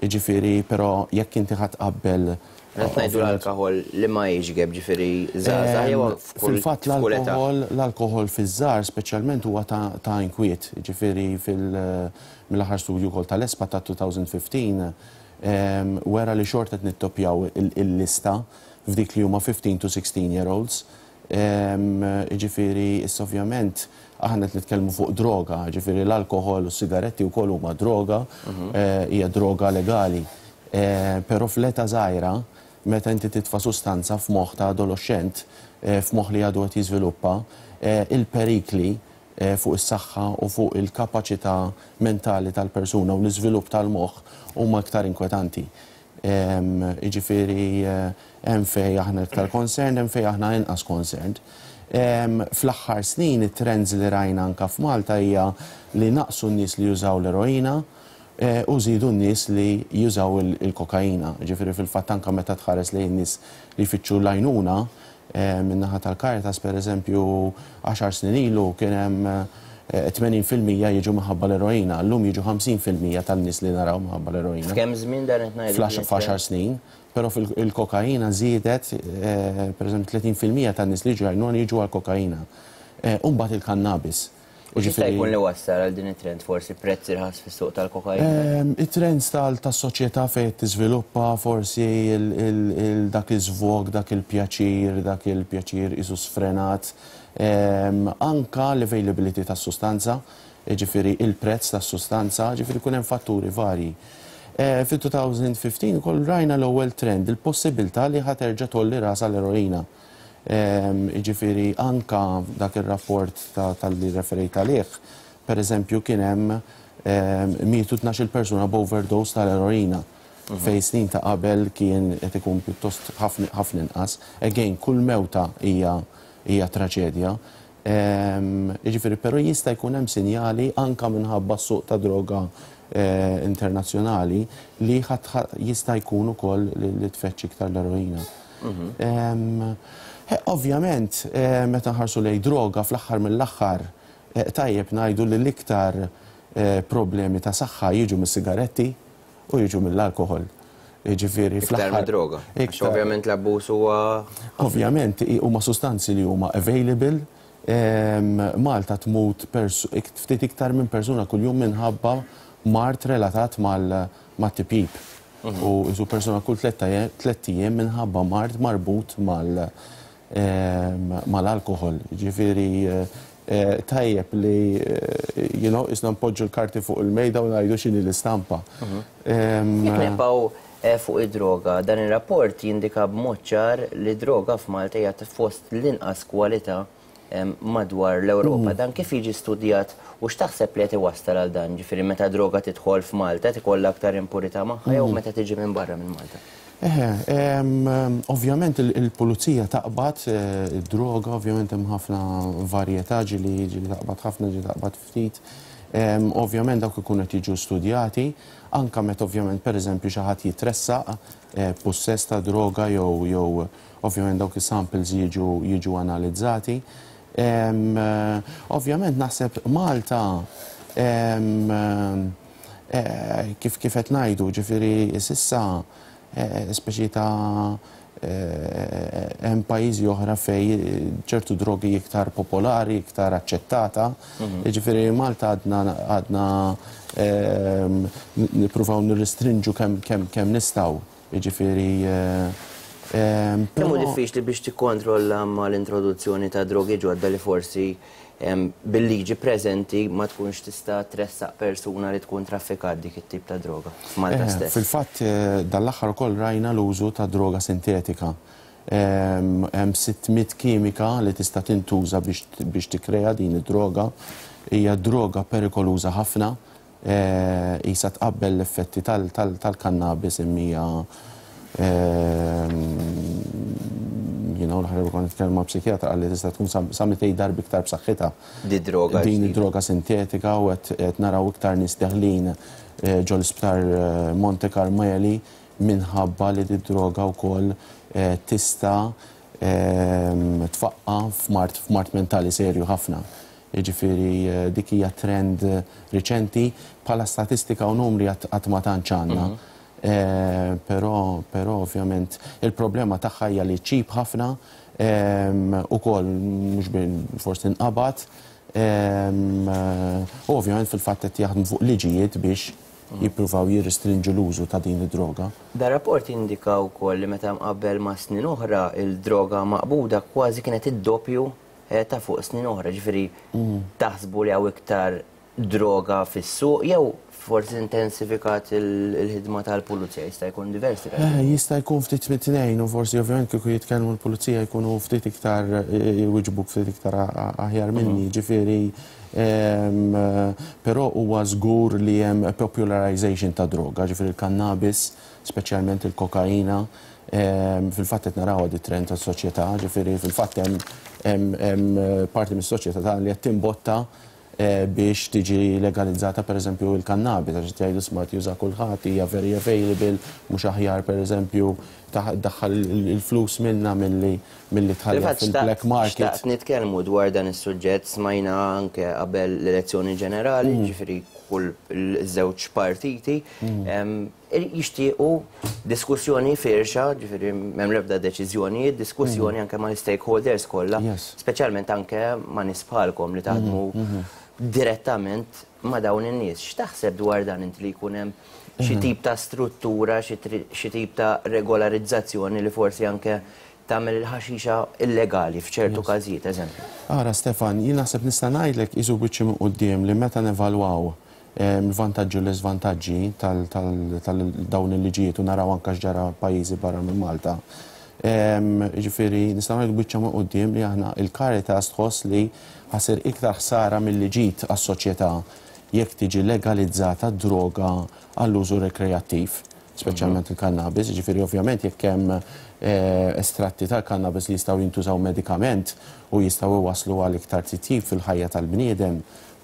jiġifieri però jekk inti ħa tqabbel Qed ngħidu l-alkoħol li ma jiġgeb, ġifieri żgħażagħ jew f'kull Fil-fatt età? l-alkoħol l-alkoħol fiż-żgħar speċjalment huwa ta' inkwiet, jiġifieri fil mill-aħħar studju wkoll tal-ESPA ta' 2015 wera li xorta qed nittoppjaw il-lista f'dik li huma 15 to 16 year olds. Jiġifieri issa ovvjament aħna qed nitkellmu fuq droga, jiġifieri l-alkoħol u s-sigaretti wkoll huma droga, hija droga legali. Però fl-età żgħira, meta inti titfa' sustanza f'moħħ ta' adoloxxent, f'moħħ li għadu qed jiżviluppa, il-perikli fuq is-saħħa u fuq il-kapaċità mentali tal-persuna u l-iżvilupp tal-moħħ huma iktar inkwetanti. Jiġifieri hemm fejn aħna iktar concerned, hemm fejn aħna inqas concerned. Fl-aħħar snin it-trends li rajna anke f'Malta hija li naqsu n-nies li jużaw l-eroina u żiedu n-nies li jużaw il-kokaina. Jiġifieri fil-fatt anke meta tħares lejn in-nies li jfittxu l-għajnuna min-naħa tal-Caritas pereżempju għaxar snin ilu kien hemm 80% jiġu minħabba l-eroina, llum jiġu 50% tan-nies li naraw minħabba l-eroina. F'kemm żmien dan qed ngħidu? F'għaxar snin. Però il-kokaina żiedet, pereżempju 30% tan-nies li jiġu għajnuna jiġu għall-kokaina. U mbagħad il-kannabis. U x'jista' jkun li wassal għal din it-trend forsi prezz irħas fis-suq tal-kokaina? It-trends tas-soċjetà fejn qed tiżviluppa forsi dak iż-żvog, dak il-pjaċir, dak il-pjaċir qisu sfrenat. Anke l-availability tas-sustanza, jiġifieri il-prezz tas-sustanza, jiġifieri jkun hemm fatturi varji. Fit-2015 ukoll rajna l-ewwel trend, il-possibilità li ħa terġa' tgħolli rasha l-eroina. Jiġifieri anke dak ir-rapport tal-li referejt għalih, pereżempju kien hemm mietu 12-il persuna b'overdose tal-eroina fejn snin ta' qabel kien qed ikun pjuttost ħafna inqas. Again, kull mewta hija hija traċedja. Jiġifieri però jista' jkun hemm sinjali anke minħabba s-suq ta' droga internazzjonali li jista' jkun ukoll li tfeċċ iktar l-eroina. Ovvjament, meta nħarsu lejn droga fl-aħħar mill-aħħar tajjeb ngħidu li l-iktar problemi ta' saħħa jiġu mis-sigaretti u jiġu mill-alkoħol. Jiġifieri fl-aħħar. Iktar mid-droga. Għax ovvjament l-abbuż huwa. Ovvjament huma sustanzi li huma available. Malta tmut ftit iktar minn persuna kuljum minħabba mard relatat mat-tipjip. U qisu persuna kull tlett ijiem minħabba mard marbut mal mal-alkoħol. Jiġifieri tajjeb li you know, isna npoġġu l-karti fuq il-mejda u ngħidu x'inhi l-istampa. Jekk nibqgħu fuq id-droga, dan ir-rapport jindika b'mod ċar li d-droga f'Malta hija fost l-inqas kwalità madwar l-Ewropa. Dan kif jiġi studjat u x'taħseb li qed iwassal għal dan? Ġifieri meta droga tidħol f'Malta qed ikollha aktar impurità magħha jew meta tiġi minn barra minn Malta? Eħe, ovvjament il-pulizija taqbad id-droga, ovvjament hemm ħafna varjetà ġieli ġieli taqbad ħafna, ġieli taqbad ftit. Ovvjament dawk ikunu qed jiġu studjati, anke meta ovvjament pereżempju xi ħadd jitressaq b'pussess ta' droga jew jew ovvjament dawk is-samples jiġu jiġu analizzati. Ovvjament naħseb Malta kif kif qed ngħidu, ġifieri s'issa speċi ta' hemm pajjiżi oħra fejn ċertu drogi iktar popolari, iktar aċċettata. Jiġifieri Malta għadna għadna nippruvaw nirrestrinġu kemm kemm kemm nistgħu. Jiġifieri Kemm hu diffiċli biex tikkontrolla mal-introduzzjoni ta' drogi ġodda li forsi bil-liġi preżenti ma tkunx tista' tressaq persuna li tkun traffikat dik it-tip ta' droga f'Malta stess? Fil-fatt dan l-aħħar ukoll rajna l-użu ta' droga sintetika. Hemm 600 kimika li tista' tintuża biex tikkrea din id-droga. Hija droga perikoluża ħafna. Qisha tqabbel l-effetti tal-kannabis imma hija Jiena u l-aħħar kont nitkellem ma' psikjatra, qal li tista' tkun sa 200 darba iktar b'saħħitha. Di droga Din id-droga sintetika, u qed naraw iktar nies deħlin ġol isptar Monte Carmeli minħabba li di droga wkoll tista' tfaqqa f'mard mentali serju ħafna. Jiġifieri dik hija trend riċenti, bħala statistika u numri qatt ma tantx għandna. Però ovvjament il-problema tagħha hija li cheap ħafna ukoll, mhux forsi tinqabad, u ovvjament fil-fatt qed jaħdmu fuq liġijiet biex jippruvaw jirrestrinġu l-użu ta' din id-droga. Da rapport jindika wkoll li meta mqabbel ma' snin oħra, il-droga maqbuda kważi kienet id-doppju ta' fuq snin oħra, ġifieri taħsbu li hawn iktar droga fis-suq jew forsi intensifikat il-ħidma tal-pulizija? Jista' jkun diversi raġuni. Jista' jkun ftit mit-tnejn, u forsi ovvjament kieku jitkellmu l-pulizija jkunu ftit iktar jwiġbuk ftit iktar aħjar minni, ġifieri, però huwa żgur li hemm popularization ta' droga, ġifieri l-cannabis, speċjalment il-kokaina, fil-fatt qed naraw di trend tas-soċjetà, ġifieri fil-fatt hemm parti mis-soċjetà tagħna li qed timbotta biex tiġi legalizzata pereżempju il-cannabis, għax jgħidu smart juża kulħadd, hija very available, mhux aħjar pereżempju daħħal il-flus minna milli tħalli fil-black market. Xtaqt nitkellmu dwar dan is-suġġett, smajna anke qabel l-elezzjoni ġenerali, ġifieri kull żewġ partiti jixtiequ diskussjoni firxa, ġifieri m'hemm l-ebda deċiżjonijiet, diskussjoni anke ma' stakeholders kollha, speċjalment anke ma' nies bħalkom li taħdmu direttament ma' dawn in-nies. X'taħseb dwar dan inti, li jkun hemm xi tip ta' struttura, xi tip ta' regolarizzazzjoni li forsi anke tagħmel il-ħaxixa illegali f'ċertu każijiet, eżempju? Ara Stefan, jien naħseb nista' ngħidlek isu biċċi minn quddiem li meta nevalwaw il-vantaġġi u l-iżvantaġġi tal-dawn il-liġijiet u naraw anke x'ġara pajjiżi barra minn Malta. Ġifieri nistgħu ngħidu biċċa minn quddiem li aħna il-Caritas tħoss li ħa ssir iktar ħsara milli ġid għas-soċjetà jekk tiġi legalizzata droga għall-użu rekreattiv, speċjalment il-cannabis, ġifieri ovvjament jekk hemm estratti tal-cannabis li jistgħu jintużaw medikament u jistgħu iwasslu għal iktar titjib fil-ħajja tal-bniedem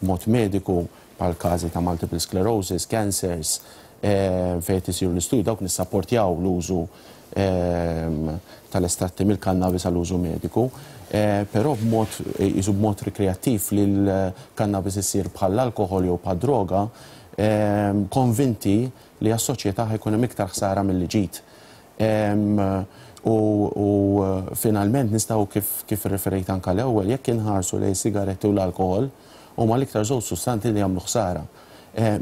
mod mediku, bħal każi ta' multiple sclerosis, cancers, fejn isiru l-istudju, dawk nissapportjaw l-użu tal-estratti mill-cannabis għall-użu mediku, però b'mod jisu b'mod rekreattiv li l-cannabis issir bħall-alkoħol jew bħal droga, konvinti li għas-soċjetà ħa jkun hemm iktar ħsara milli ġid. U finalment nistgħu, kif referejt anka l-ewwel, jekk inħarsu lejn sigaretti u l-alkoħol, huma l-iktar żewġ sustanti li jagħmlu ħsara.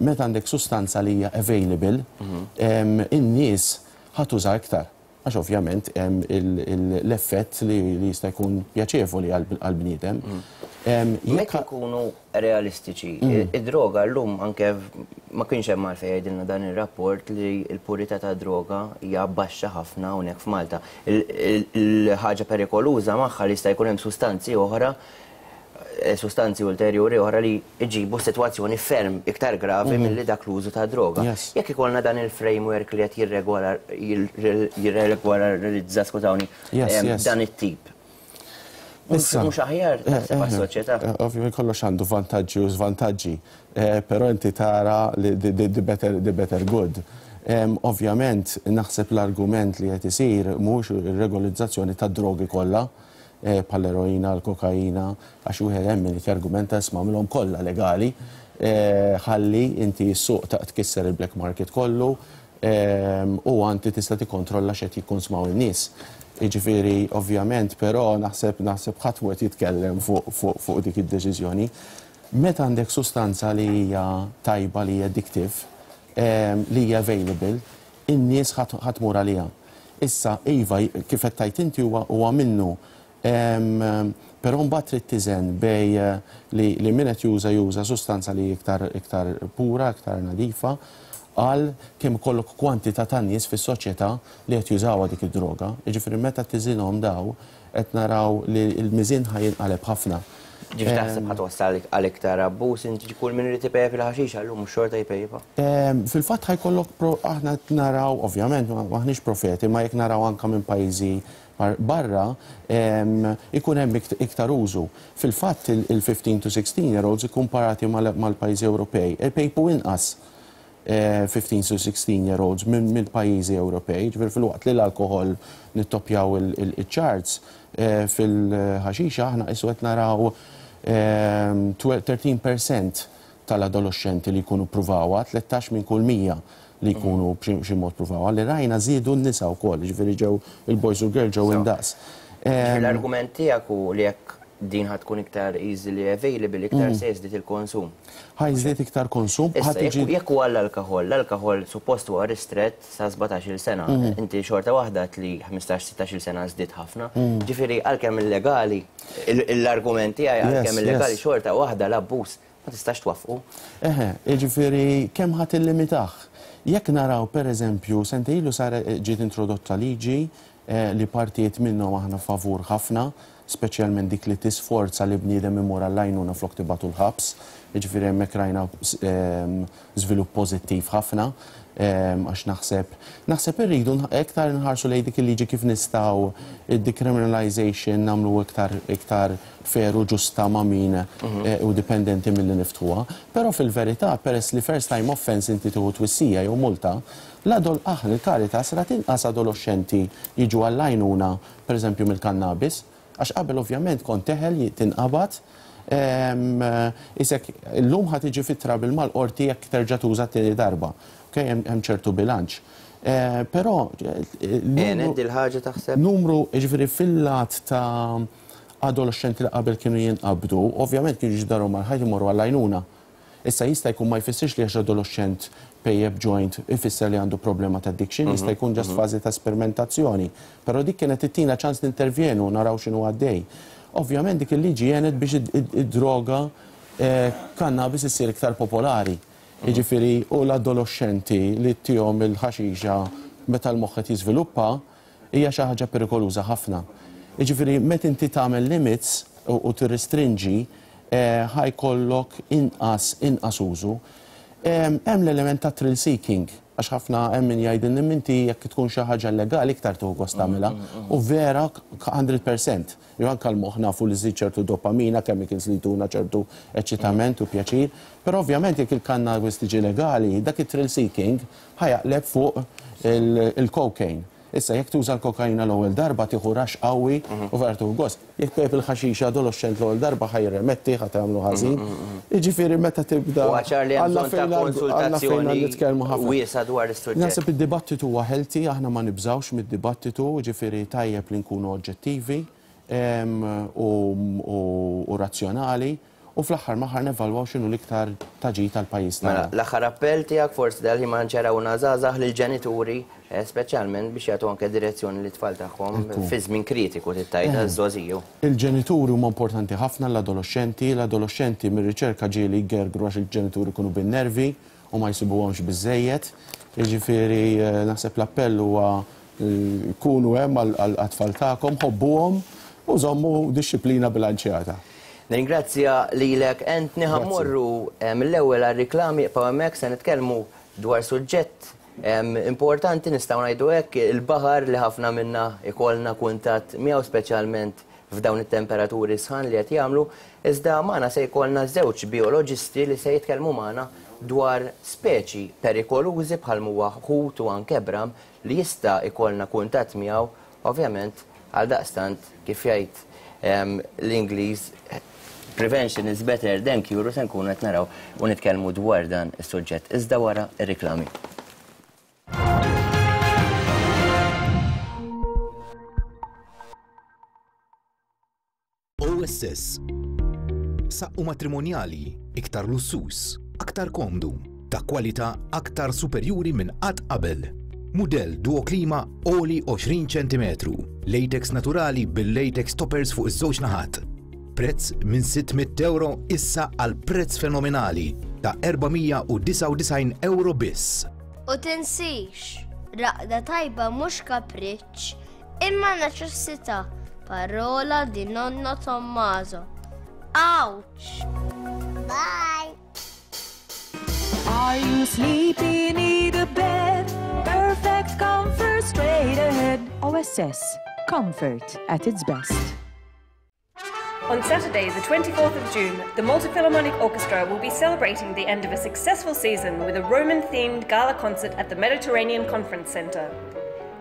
Meta għandek sustanza li hija available, in-nies ħa tuża iktar. Għax ovvjament hemm l-effett li jista' jkun pjaċevoli għal-bniedem. Jekk ikunu realistiċi, id-droga llum anke ma kienx hemm għalfejn jgħidilna dan ir-rapport li l-purità ta' droga hija baxxa ħafna hawnhekk f'Malta. Il-ħaġa perikoluża magħha li jista' jkun hemm sustanzi oħra, sustanzi ulterjuri oħra li jġibu sitwazzjoni ferm iktar gravi milli dak l-użu ta' droga. Jekk ikollna dan il-framework li qed jirregolarizza, skużawni, dan it-tip. Mhux aħjar taħseb għas-soċjetà? Ovvjament kollox għandu vantaġġi u żvantaġġi, però inti tara the better good. Ovvjament naħseb l-argument li qed isir mhux ir-regolizzazzjoni tad-drogi kollha, bħall-eroina, l-kokaina, għax wieħed hemm min jargumenta, isma', minnhom kollha legali, ħalli inti s-suq ta' tkisser il-black market kollu u anti tista' tikkontrolla x'qed jikkonsmaw in-nies. Jiġifieri ovvjament, però naħseb ħadd mhu qed jitkellem fuq dik id-deċiżjoni. Meta għandek sustanza li hija tajba, li hija addictive, li hija available, in-nies ħa tmur għaliha. Issa, iva, kif qed tgħid inti huwa minnu. Però mbagħad trid tiżen bejn li min qed juża sustanza li iktar pura, iktar nadifa, għal kemm ikollok kwantità ta' nies fis-soċjetà li qed jużawha dik id-droga. Jiġifieri meta tiżinhom daw qed naraw li l-miżien ħa jinqaleb ħafna. Ġifieri taħseb ħa twassal għal iktar abbuż inti kull min irid ipejjep il-ħaxixa llum mhux xorta jpejjipha? Fil-fatt ħa jkollok aħna qed naraw ovvjament m'aħniex profeti ma jekk naraw anke minn pajjiżi barra ikun hemm iktar użu. Fil-fatt il-15 to 16 year olds ikkumparati mal-pajjiżi Ewropej ipejpu inqas 15 to 16 year olds mill-pajjiżi Ewropej, ġifieri filwaqt li l-alkoħol nittoppjaw iċ-charts, fil-ħaxixa aħna qisu qed naraw 13% tal-adoloxxenti li jkunu ppruvawha, 13 minn kull 100 li jkunu b'xi mod ppruvawha. Li rajna żiedu n-nisa wkoll, ġifieri ġew il-boys u l-girls ġew indaqs. L-argument tiegħek hu li jekk din ħa tkun iktar easily available, iktar se jiżdied il-konsum. Ħa jiżdied iktar konsum. Issa, jekk huwa l-alkoħol, l-alkoħol suppost huwa ristrett sa 17-il sena. Inti xorta waħda għedt li 15-16-il sena żdied ħafna. Ġifieri għalkemm illegali, l-argument tiegħi għalkemm illegali xorta waħda l-abbuż ma tistax twaffqu. Eħe, jiġifieri kemm ħa tillimitah? Jekk naraw pereżempju, sentejn ilu sar ġiet introdotta liġi li partijiet minnhom aħna favur ħafna, speċjalment dik li tisforza li bniedem imur għall-għajnuna flok tibagħtu l-ħabs. Jiġifieri hemmhekk rajna żvilupp pożittiv ħafna għax naħseb naħseb irridu iktar inħarsu lejn dik il-liġi kif nistgħu id-decriminalization nagħmlu iktar iktar fair u ġusta ma' min hu dipendenti milli niftħuha. Però fil-verità peress li first time offence inti tieħu twissija jew multa, L-adol aħna il-Caritas rat inqas adoloxxenti jiġu għall-għajnuna pereżempju mill-kannabis, għax qabel ovvjament kont teħel tinqabad, isek illum ħa tiġi fi trouble mal-qorti jekk terġa' tuża t-tieni darba. Ok, hemm ċertu bilanċ. Però Għenet dil-ħaġa taħseb? Numru, jiġifieri fil-lat ta' adoloxxenti li qabel kienu jinqabdu, ovvjament kienu jiġu darhom mal-ħajt imorru għall-għajnuna. Issa jista' jkun ma jfissirx li għax adoloxxent pejjep joint ifisser li għandu problema ta' addiction, jista' jkun just fażi ta' sperimentazzjoni. Però dik kienet ittina ċans nintervjenu u naraw x'inhu għaddej. Ovvjament dik il-liġi għenet biex id-droga cannabis issir iktar popolari. Jiġifieri u l-adoloxxenti li ttihom il-ħaxixa meta l-moħħ qed jiżviluppa hija xi ħaġa perikoluża ħafna. Jiġifieri meta inti tagħmel limits u tirrestrinġi ħa jkollok inqas inqas użu. Hemm l-element ta' thrill seeking, għax ħafna hemm min jgħidilna imma inti jekk tkun xi ħaġa llegali iktar tieħu gost tagħmilha. U vera 100%. Jew anke l-moħħ nafu li żżid ċertu dopamina, chemicals li jtuna ċertu eċċitament u pjaċir. Però ovvjament jekk il-cannabis tiġi legali, dak it-thrill seeking ħa jaqleb fuq il-cocaine. Issa jekk tuża l-kokaina l-ewwel darba tieħu rush qawwi u vera tieħu gost. Jekk tpejjep il-ħaxixa adoloxxent l-ewwel darba ħa jirremetti, ħa tagħmlu ħażin. Jiġifieri meta tibda Huwa ċar li hemm Alla bżonn ta' fejn Alla fejn konsultazzjoni nitkellmu ħafna. wiesgħa dwar is-suġġett. Naħseb id-dibattitu huwa healthy, aħna ma nibżgħux mid-dibattitu, jiġifieri tajjeb li nkunu oġġettivi u razzjonali. U fl-aħħar m'aħħar nevalwaw x'inhu l-iktar ta' ġid għall-pajjiż tagħna. Mela, l-aħħar appell tiegħek forsi dal-ħin ma nċerawna żgħażagħ lill-ġenituri speċjalment biex jagħtu anke direzzjoni lit-tfal tagħhom fi żmien kritiku trid tgħid għaż-żgħożiju. Il-ġenituri huma importanti ħafna għall-adoloxxenti. L-adoloxxenti mir-riċerka ġieli jgergru għax il-ġenituri jkunu bin-nervi u ma jsibuhomx biżżejjed. Jiġifieri naħseb l-appell huwa Kunu hemm għat-tfal tagħkom, ħobbuhom u żommu dixxiplina bilanċjata. Nirringrazzja lilek Anthony. Ħa mmorru mill-ewwel għar-riklami, ibqgħu hemmhekk se nitkellmu dwar suġġett importanti nistgħu ngħidu hekk, il-baħar li ħafna minna jkollna kuntatt miegħu speċjalment f'dawn it-temperaturi sħan li qed jagħmlu, iżda magħna se jkollna żewġ bijoloġisti li se jitkellmu magħna dwar speċi perikolużi bħal m'huwa ħut u anke bram li jista' jkollna kuntatt miegħu, ovvjament, għaldaqstant, kif jgħid l-Ingliż, prevention is better than cure u se nkunu qed naraw u nitkellmu dwar dan is-suġġett iżda wara r-riklami. OSS. Saqqu matrimonjali, iktar lussuż, aktar komdu, ta' kwalità aktar superjuri minn qatt qabel. Mudell Duoklima għoli 20 ċentimetru, latex naturali bil-latex toppers fuq iż-żewġ naħat. Prezz minn 600 euro issa għal prezz fenomenali ta' 499 euro biss. U tinsix, raqda tajba mhux kapriċċ, Imma neċessità, parola di nonno Tommaso. Ouch! Bye! Are you sleepy? Need a bed? Perfect comfort straight ahead. OSS. Comfort at its best. On Saturday, the 24th of June, the Malta Philharmonic Orchestra will be celebrating the end of a successful season with a Roman themed gala concert at the Mediterranean Conference Centre.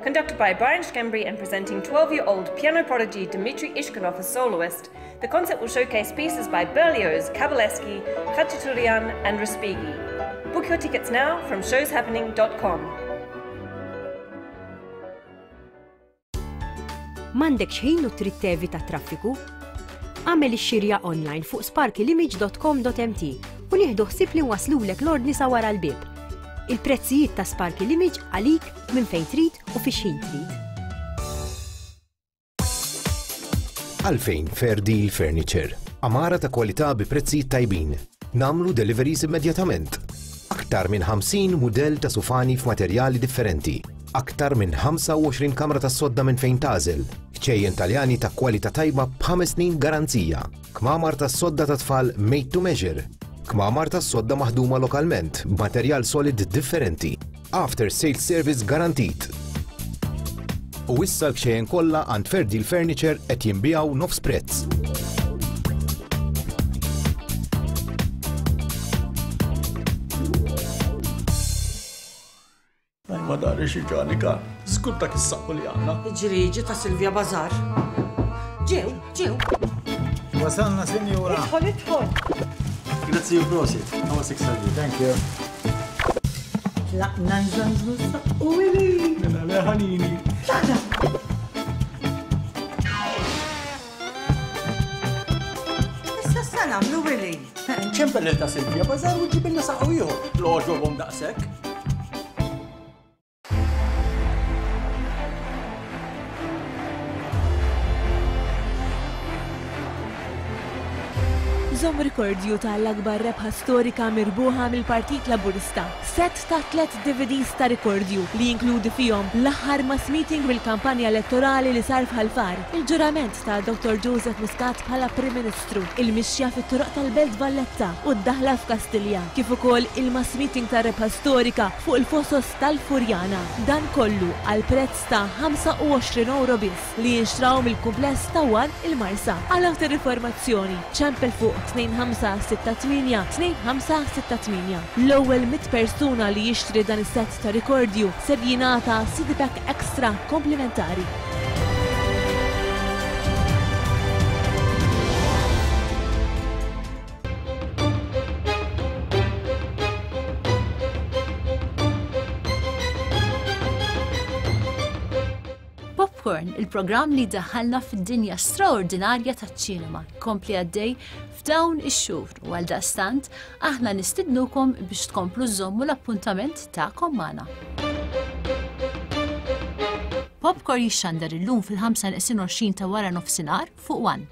Conducted by Brian Schembri and presenting 12 year old piano prodigy Dmitry Ishkanov as soloist, the concert will showcase pieces by Berlioz, Kabalevsky, Khachaturian, and Respighi. Book your tickets now from showshappening.com. M'għandekx ħin u trid tevita t-traffiku? Agħmel ix-xirja online fuq sparkylimage.com.mt u nieħdu ħsieb li nwasslulek l-ordni sa wara l-bieb. Il-prezzijiet ta' Sparky Limage għalik minn fejn trid u fi x'ħin trid. Għalfejn Fair Deal Furniture? Għamara ta' kwalità bi prezzijiet tajbin. Nagħmlu deliveries immedjatament. Aktar minn 50 mudell ta' sufani f'materjali differenti. Aktar minn 25 kamra tas-sodda minn fejn tagħżel. Kċejjen Taljani ta' kwalità tajba b'ħames snin garanzija. Kmamar tas-sodda ta' tfal made to measure. Kmamar tas-sodda maħduma lokalment b'materjal solid differenti. After sales service garantit. U issa l-kxejjen kollha għand Fair Deal Furniture qed jinbiegħu nofs prezz. Ma dari xi ġanika, żgur dak is-saqqu li għandna. Ġriġi ta' Silvia Bazar. Ġew, ġew. Wasalna, sinjura. Idħol, idħol. Grazzi u prosit. Għawa 600. Thank you. Tlaqna nżanżnu s-saqqu ili. Mela le ħanini. Tlaqna. Issa sa nagħmlu Willy. Ċempel lil ta' Silvia Bazar u ġibilna saqqu ieħor. L-għoġobhom daqshekk. Żomm rikordju ta' l-akbar rebħa storika mirbuħa mill-Partit Laburista. Sett ta' tlett DVDs ta' rikordju li jinkludi fihom l-aħħar mass meeting mill-kampanja elettorali li sar f'Ħal Far, il-ġurament ta' Dottor Joseph Muscat bħala Prim Ministru, il-mixja fit-toroq tal-Belt Valletta u d-daħla f'Kastilja, kif ukoll il-mass meeting tar-rebħa storika fuq il-Fosos tal-Furjana. Dan kollu għal prezz ta' 25 ewro biss li jinxtraw mill-kumpless ta' One il-Marsa. Għal aktar informazzjoni ċempel fuq 2568 2568. L-ewwel 100 persuna li jixtri dan is-sett ta' rikordju ser jingħata CD pack extra komplimentari. Popcorn, il-programm li daħalna fid-dinja straordinarja taċ-ċinema, kompli għaddej f'dawn ix-xhur u għal daqstant aħna nistidnukom biex tkomplu żommu l-appuntament tagħkom magħna. Popcorn jixxandar illum fil-5 ta' wara nofsinhar fuq One.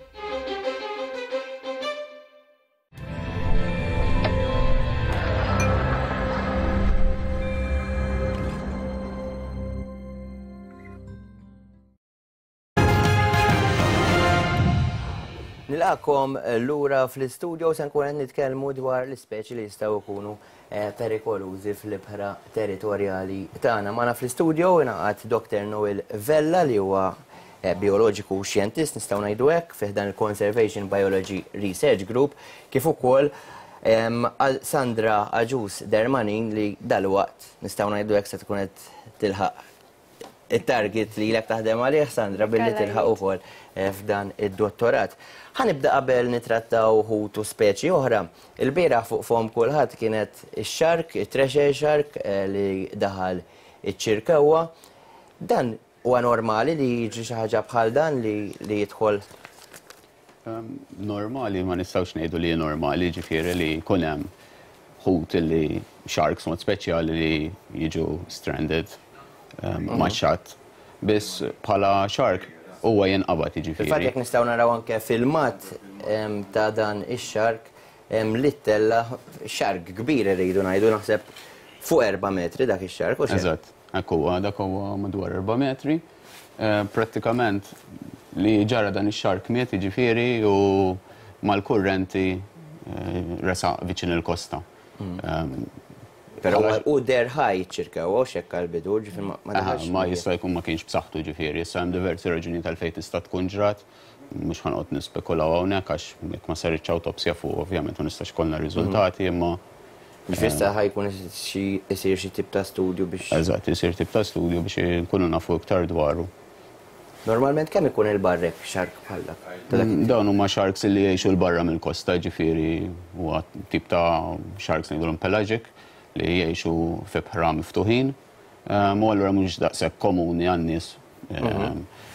Nilqakom lura fl-istudio se nkun qed nitkellmu dwar l-ispeċi li jistgħu jkunu eh, perikolużi fl-ibħra territorjali tagħna. Magħna fl-istudio ingħaqad Dr. Noel Vella li huwa eh, bioloġiku u xjentist nistgħu ngħidu hekk fih dan il-Conservation Biology Research Group kif ukoll għal Sandra Aġus Dermanin li dalwaqt nistgħu ngħidu hekk se tkun qed tilħaq it-target li ilek taħdem għalih, Sandra, billi tilħaq ukoll eh, f'dan id-dottorat. Ħa nibda qabel nitrattaw ħut u speċi oħra. Il-bieraħ fuq fom kulħadd kienet ix-shark, it-thresher shark eh, li daħal iċ-ċirkewwa. Dan huwa normali li jiġri xi ħaġa bħal dan li, li jidħol Ehm, normali ma nistgħux ngħidu li normali, ġifieri li jkun hemm ħut li sharks mod speċjali li jiġu stranded ehm, mhm. ma' xatt. Biss bħala shark huwa jinqabad jiġifieri. Fil-fatt jekk nistgħu naraw anke filmat ehm, ta' dan ix-shark li ttella shark kbir irridu ngħidu naħseb fuq 4 metri dak ix-shark. Eżatt, hekk huwa dak huwa madwar 4 metri. Prattikament li ġara dan ix-shark miet jiġifieri u mal-kurrenti resaq viċin il-kosta. Però hu deher ħaj iċ-Ċirkew, hux hekk għall-bidu, ġifieri ma daħalx. Ma jista' jkun ma kienx b'saħħtu ġifieri, issa hemm diversi raġunijiet għalfejn tista' tkun ġrat, mhux ħa noqgħod nispekulaw hawnhekk għax jekk ma saritx awtopsja fuq ovvjament ma nistax ikollna riżultati imma. Ġifieri issa ħa jkun isir xi tip ta' studju biex. Eżatt, isir tip ta' studju biex inkunu nafu iktar dwaru. Normalment kemm ikun 'il barra hekk shark bħal dak? Ta' dak it-tip? Dawn huma sharks li jgħixu 'l barra mill-kosta, jiġifieri huwa tip ta' sharks ngħidulhom pelagic li jgħixu f'ibħra miftuħin u allura mhux daqshekk komuni għan-nies.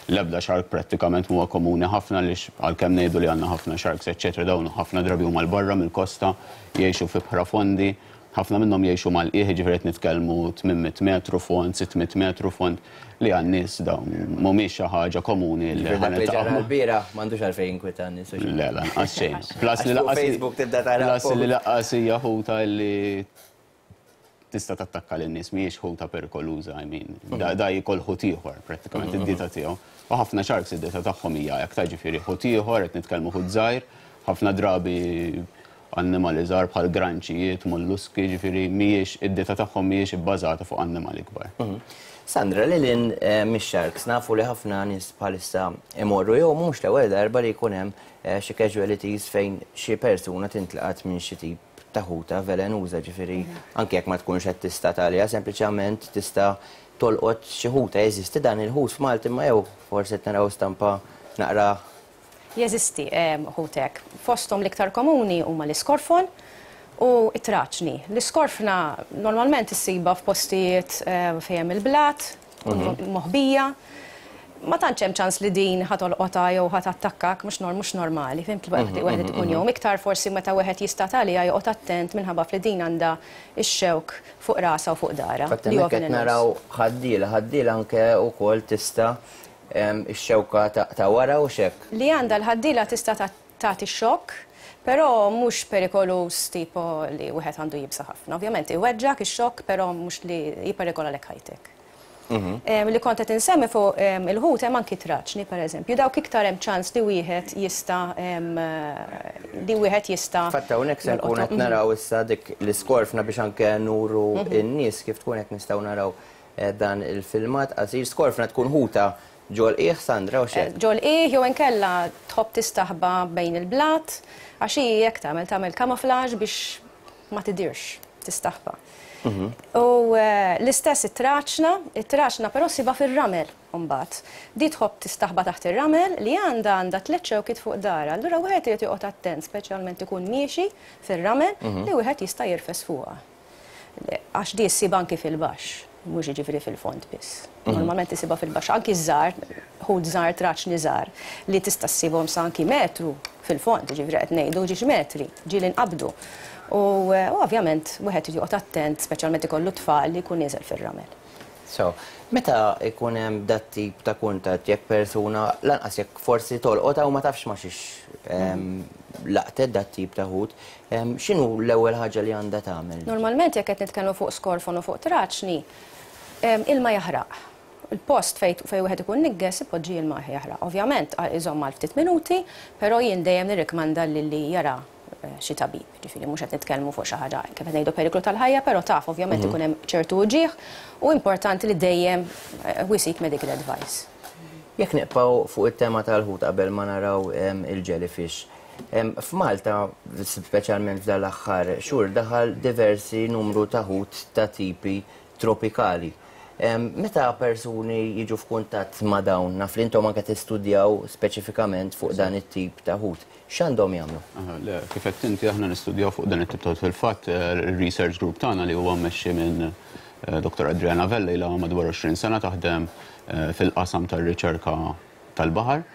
L-ebda shark prattikament mhuwa komuni ħafna għaliex għalkemm ngħidu li għandna ħafna sharks eċċetera dawn ħafna drabi huma 'l barra mill-kosta, jgħixu f'ibħra fondi. Ħafna minnhom jgħixu mal-qiegħ, jiġifieri qed nitkellmu 800 metru fond, 600 metru fond, li għan-nies dawn mhumiex xi ħaġa komuni li Ġifieri ħa dak li ġara niltaqgħu ma'. lbieraħ m'għandux għalfejn jinkwita n-nies u xi. Le, lanqas xejn. Plus li Għax fuq lanqas Facebook tibda tara plus li post. lanqas hija ħuta li tista' tattakka lin-nies, mhijiex ħuta perikoluża, I mean, da da jiekol ħut ieħor prattikament id-dieta tiegħu. U ħafna sharks id-dieta tagħhom hija hekk ta' ġifieri ħut ieħor, qed nitkellmu ħut żgħir, ħafna drabi annimali żgħar bħal granċijiet, molluski, jiġifieri mhijiex id-dieta tagħhom mhijiex ibbażata fuq annimali kbar. Sandra, lil hinn mix-sharks, nafu li ħafna nies bħalissa imorru jew mhux l-ewwel darba li jkun hemm xi casualties fejn xi persuna tintlaqat minn xi tip ta' ħuta velenuża, ġifieri anke jekk ma tkunx qed tistad għaliha, sempliċement tista' tolqot xi ħuta. Jeżisti dan il-ħut f'Malta imma jew forsi qed naraw stampa naqra Jeżisti ħut hekk. Fosthom l-iktar komuni huma l-iskorfon u t-traċni. L-iskorfna normalment issibha f'postijiet fejn hemm il-blat, tkun moħbija. Ma tantx hemm ċans li din ħa tolqotha jew ħa tattakkak, mhux mhux normali, fhimt? Wieħed ikun jgħum iktar forsi meta wieħed jistad għaliha joqgħod attent minħabba f'li din għandha x-xewk fuq rasha u fuq darha Fatt li huwa hemmhekk qed velenuż. naraw ħaddiela, ħaddiela anke wkoll tista' Ix-xewka ta' wara u x'hekk. Li għandha l-ħaddiela tista' tagħti xokk, però mhux perikoluż tipo li wieħed għandu jibża' ħafna. Ovvjament iweġġgħek ix-xokk però mhux li jipperikolalek ħajtek. Li kont qed insemmi fuq il-ħut hemm anki traċni pereżempju, dawk iktar hemm ċans li wieħed jista' li wieħed jista' Fatt hawnhekk se nkun qed naraw issa dik l-iskorfna biex anke nuru n-nies kif tkun qed nistgħu naraw Dan il-filmat qasir skorfna tkun ħuta ġol-qiegħ, Sandra, u x'hekk? Ġol-qiegħ jew inkella tħobb tistaħba bejn il-blat, għax hi hekk tagħmel, tagħmel camouflage biex ma tidhirx, tistaħba. U l-istess it-traċna, it-traċna però ssibha fir-ramel imbagħad. Di tħobb tistaħba taħt ir-ramel li għandha għandha tlett xewkiet fuq darha. Allura wieħed irid joqgħod attent speċjalment ikun miexi fir-ramel li wieħed jista' jirfes fuqha. Għax di ssibha anki fil-baxx, mhux jiġifieri fil-fond biss. Normalment issibha fil-baxx, anki ż-żgħar, ħut żgħar, traċni żgħar, li tista' ssibhom sa anki metru fil-fond, jiġifieri qed ngħidu ġiex metri, ġieli nqabdu. U ovvjament wieħed irid joqgħod attent, speċjalment ikollu t-tfal li jkun nieżel fir-ramel. So, meta jkun hemm dat-tip ta' kuntatt jekk persuna lanqas jekk forsi tolqotha u ma tafx ma' xiex laqtet dat-tip ta' ħut, x'inhu l-ewwel ħaġa li għandha tagħmel? Normalment jekk qed nitkellmu fuq skorfon u fuq traċni, ilma jaħraq. Il-post fejn fejn wieħed ikun nigges ipoġġi ilma jaħraq. Ovvjament iżomm għal ftit minuti, però jien dejjem nirrikmanda lil li jara xi tabib. Ġifieri mhux qed nitkellmu fuq xi ħaġa kif qed ngħidu periklu tal-ħajja, però taf ovvjament ikun hemm ċertu uġigħ u importanti li dejjem we seek medical advice. Jekk nibqgħu fuq it-tema tal-ħut qabel ma naraw il-jellyfish. F'Malta, speċjalment f'dan l-aħħar xhur, daħal diversi numru ta' ħut ta' tipi tropikali. Meta persuni jiġu f'kuntatt ma' dawn, naf li intom anke tistudjaw speċifikament fuq dan it-tip ta' ħut, x'għandhom jagħmlu? Le, kif għedt inti aħna nistudjaw fuq dan it-tip ta' ħut. Fil-fatt, ir-research group tagħna li huwa mmexxi minn Dottor Adriana Vella ilha madwar 20 sena taħdem fil-qasam tar-riċerka tal-baħar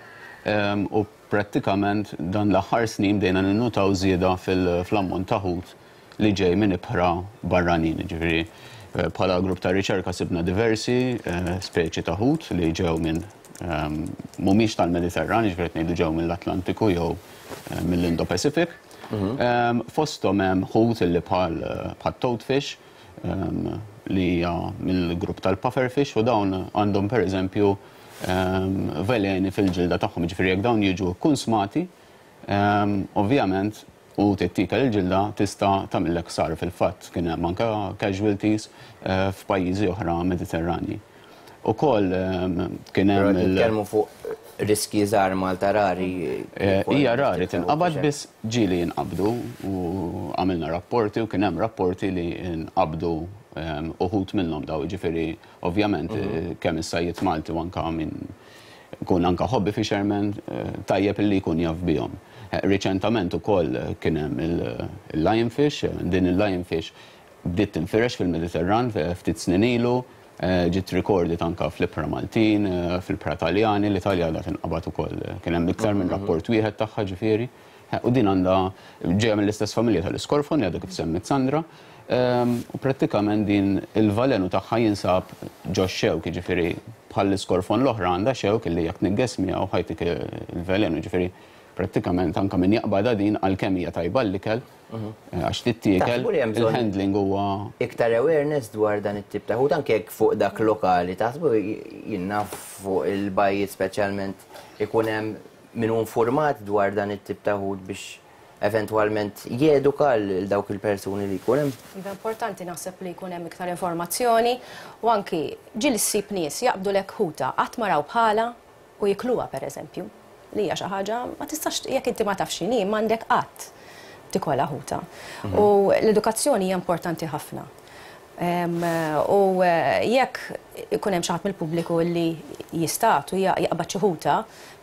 u prattikament dan l-aħħar snin bdejna ninnutaw żieda fl-ammont ta' ħut li ġej minn ibħra barranin. Jiġifieri bħala grupp ta' riċerka sibna diversi speċi ta' ħut li ġew minn mhumiex tal-Mediterran, jiġifieri qed ngħidu ġew mill-Atlantiku jew mill-Indo-Pacific. Fosthom hemm ħut li bħal bħat-toadfish li hija mill-grupp tal-pufferfish u dawn għandhom pereżempju veleni fil-ġilda tagħhom, jiġifieri jekk dawn jiġu kkunsmati. Ovvjament, u tittiekel il-ġilda tista' tagħmillek ħsara fil-fatt kien hemm anke casualties f'pajjiżi oħra Mediterranji. Ukoll kien hemm. Però qed nitkellmu fuq riskji żgħar Malta rari. Hija rari tinqabad biss ġieli jinqabdu u għamilna rapporti u kien hemm rapporti li nqabdu uħud minnhom daw jiġifieri ovvjament kemm is-sajjied Malti u anke min ikun anke hobby fisherman tajjeb illi jkun jaf bihom. Riċentament ukoll kien hemm il-lionfish, din il-lionfish bdiet tinfirex fil-Mediterran ftit snin ilu, ġiet recorded anke fl-ibħra Maltin, fl-ibħra Taljani, l-Italja għadha tinqabad ukoll, kien hemm iktar minn rapport wieħed tagħha ġifieri. U din għandha ġejja mill-istess familja tal-iskorfon li għadha kif semmiet Sandra. U prattikament din il-valenu tagħha jinsab ġo x-xewk, jiġifieri bħall-iskorfon l-oħra għandha xewk illi jekk tniggeż miegħu ħa jtik il-velenu, jiġifieri prattikament anke min jaqbadha din għalkemm hija tajba għall-ikel, għax tittiekel, il-handling huwa. Iktar awareness dwar dan it-tip ta' ħut anke jekk fuq dak lokali, taħsbu jien naf fuq il-bajjiet speċjalment ikun hemm min hu infurmat dwar dan it-tip ta' ħut biex eventwalment jeduka lil dawk il-persuni li jkun hemm? Iva importanti naħseb li jkun hemm iktar informazzjoni u anki ġieli ssib nies jaqbdulek ħuta qatt ma raw bħalha u jikluha pereżempju, li hija xi ħaġa ma tistax jekk inti ma tafx x'inhi m'għandek qatt tikolha ħuta. U l-edukazzjoni hija importanti ħafna. U jekk ikun hemm xi ħadd mill-pubbliku li jistad u jaqbad xi ħuta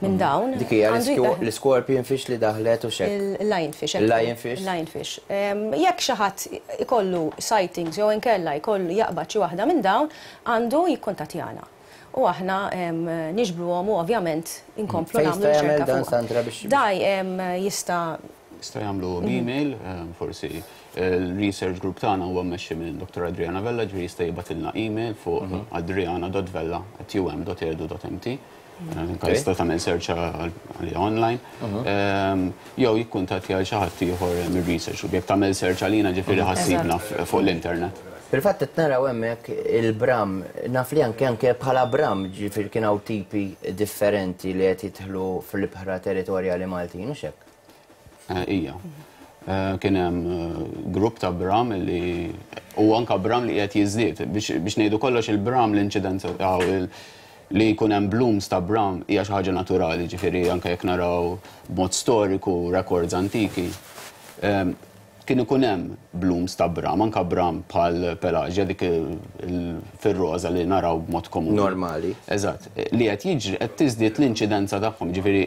minn dawn. Dik hija l-iscorpion fish li daħlet u x'hekk. Il-lionfish. Il-lionfish. Il-lionfish. Jekk xi ħadd ikollu sightings jew inkella jkollu jaqbad xi waħda minn dawn, għandu jikkuntattjana. U aħna niġbruhom u ovvjament inkomplu nagħmlu riċerka fuqha. Fejn jista' jagħmel dan Sandra biex. Daj jista' Jista' jagħmlu b'email, forsi il-research group tagħna huwa mmexxi minn Dr. Adriana Vella, ġifieri jista' jibgħatilna email fuq adriana.vella@um.edu.mt. Anke jista' tagħmel search għaliha online. Jew jikkuntattja lil xi ħadd ieħor mir-research group. Jekk tagħmel search għalina ġifieri ħa ssibna fuq l-internet. Fil-fatt qed naraw hemmhekk il-bram, naf li anke anke bħala bram ġifieri kien hawn tipi differenti li qed jidħlu fl-ibħra territorjali Maltin, hux hekk? Ija. Kien hemm grupp ta' bram li u anka bram li qiegħed jiżdied. Biex ngħidu kollox il-bram l-inċidenza li jkun hemm blooms ta' bram hija xi ħaġa naturali, ġifieri anke jekk naraw b'mod storiku records antiki, kien ikun hemm blooms ta' bram, anke bram bħal pelagia dik fir-roża li naraw b'mod komuni. Normali. Eżatt. Li qed jiġri qed tiżdied l-inċidenza tagħhom, ġifieri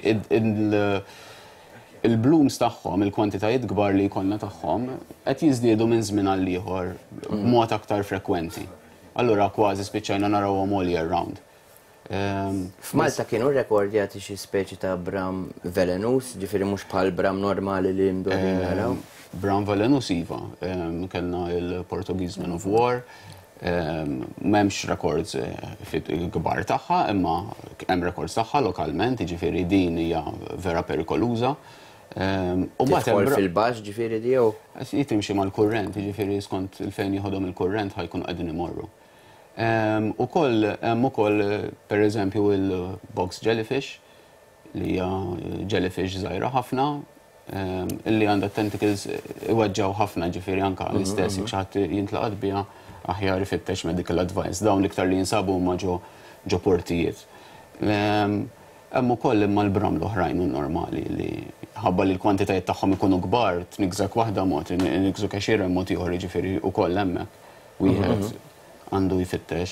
Il-blooms tagħhom, il-kwantitajiet kbar li jkollna tagħhom, qed jiżdiedu minn żmien għal ieħor b'mod aktar frekwenti. Allura kważi spiċċajna narawhom all year round. F'Malta kienu rrekordjati xi speċi ta' bram velenuż, ġifieri mhux bħal bram normali li mdorrijin naraw? Bram velenuż iva. Kellna l-Portuguese Man of War, M'hemmx records kbar tagħha, imma hemm records tagħha lokalment, jiġifieri din hija vera perikoluża. U mbagħad hemm fil-baxx ġifieri di jew? Hi timxi mal-kurrent, jiġifieri skont il fejn jieħodhom il-kurrent ħa jkunu qegħdin imorru. Ukoll hemm ukoll pereżempju il-box jellyfish, li hija jellyfish żgħira ħafna, illi għandha tentacles iweġġgħu ħafna ġifieri anke l-istess jekk xi ħadd jintlaqat biha aħjar ifittex medical advice. Dawn l-iktar li jinsabu huma ġo ġo portijiet. Hemm ukoll imma l-bram l-oħrajn u normali li ħabba li l-kwantitajiet tagħhom ikunu kbar, tniggżek waħda mod, iniggżuk għexieren mod ieħor jiġifieri wkoll hemmhekk wieħed għandu jfittex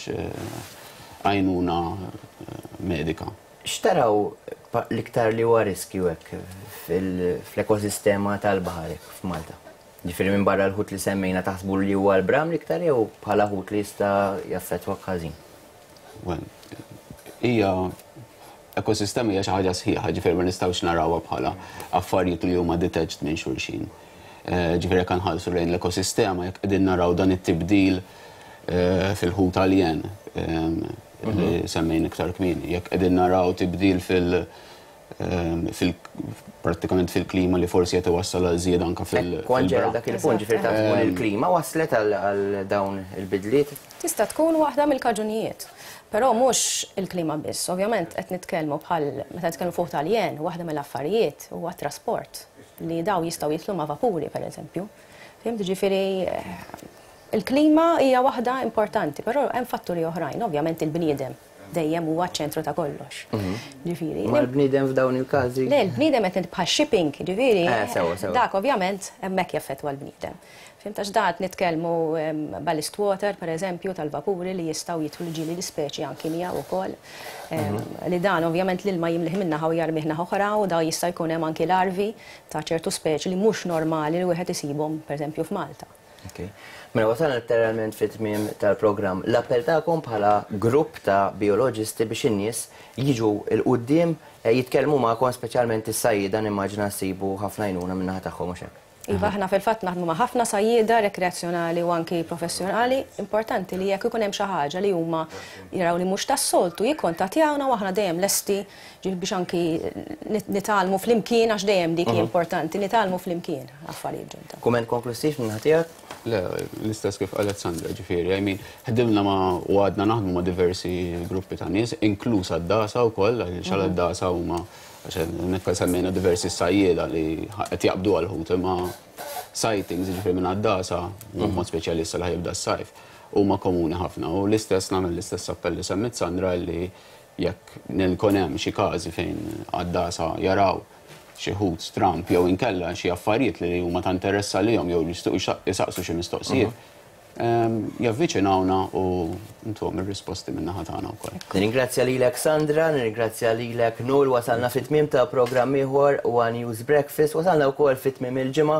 għajnuna medika. X'taraw l-iktar li huwa riskju hekk fl-ekosistema tal-baħar hekk f'Malta? Ġifieri minbarra l-ħut li semmejna taħsbu li huwa l-bram l-iktar jew bħala ħut li jista' jaffettwak ħażin? Well, hija ekosistema hija xi ħaġa sħiħa, ġifieri ma nistgħux narawha bħala affarijiet li huma detached minn xulxin. Ġifieri jekk nħallsu lejn l-ekosistema, jekk qegħdin naraw dan it-tibdil fil-ħut aljen li semmejna iktar kmieni, jekk qegħdin naraw tibdil fil- Prattikament fil-klima li forsi qed iwassal għal żieda anke fil. Kont ġej għal dak il-punt, ġifieri taf tkun il-klima wasslet għal dawn il-bidliet? Tista' tkun waħda mill-kaġunijiet. Però mhux il-klima biss. Ovvjament qed nitkellmu bħal meta nitkellmu fuq Taljen, waħda mill-affarijiet huwa t-trasport li dawn jistgħu jidħlu ma' vapuri pereżempju. Fhimt? Ġifieri il-klima hija waħda importanti, però hemm fatturi oħrajn, ovvjament il-bniedem dejjem huwa ċ-ċentru ta' kollox. Ġifieri. Ma l-bniedem f'dawn il-każi? Le, l-bniedem qed bħal shipping, ġifieri. Eh, sewa, sewa. Dak ovvjament hemmhekk jaffettwa l-bniedem. Fhimt għax da qed nitkellmu ballast water, per eżempju, tal-vapuri li jistgħu jidħlu ġieli l-ispeċi anki miegħu wkoll. Li dan ovvjament l-ilma jimlih minn naħa u jarmih naħa oħra u da jista' jkun hemm anki larvi ta' ċertu speċi li mhux normali li wieħed isibhom pereżempju f'Malta. Ok. Mela wasalna letteralment fit-tmiem tal-programm. L-appell tagħkom bħala grupp ta' bijoloġisti biex in-nies jiġu 'l quddiem jitkellmu magħkom speċjalment is-sajjieda nimmaġina ssibu ħafna għajnuna min-naħa tagħhom hux hekk? Iva, aħna fil-fatt naħdmu ma' ħafna sajjieda rekreazzjonali u anki professjonali. Importanti li jekk ikun hemm xi ħaġa li huma jaraw li mhux tas-soltu jikkontattjawna u aħna dejjem lesti biex anki nitgħallmu flimkien għax dejjem dik hi importanti, nitgħallmu flimkien affarijiet ġodda. Kumment konklussiv min-naħa tiegħek? Le, l-istess kif qalet Sandra, ġifieri, I mean, ħdimna ma' u għadna naħdmu ma' diversi gruppi ta' nies, inkluż għad-dasa wkoll, għaliex għal-dasa huma Għax hemmhekk semmejna diversi sajjieda li qed jaqbdu għall-ħut imma sightings, jiġifieri minn għaddasa, b'mod speċjali issa li ħa jibda s-sajf, huma komuni ħafna. U l-istess nagħmel l-istess appell li semmiet Sandra li jekk nkun hemm xi każi fejn għaddasa jaraw xi ħut stramb jew inkella xi affarijiet li huma ta' interess għalihom jew li jixtiequ jsaqsu xi mistoqsijiet, Javviċinawna u ntuhom ir-risposti min-naħa tagħna wkoll. Nirringrazzja lilek Sandra, nirringrazzja lilek Noel, wasalna fi tmiem ta' programm ieħor One News Breakfast, wasalna wkoll fi tmiem il-ġimgħa,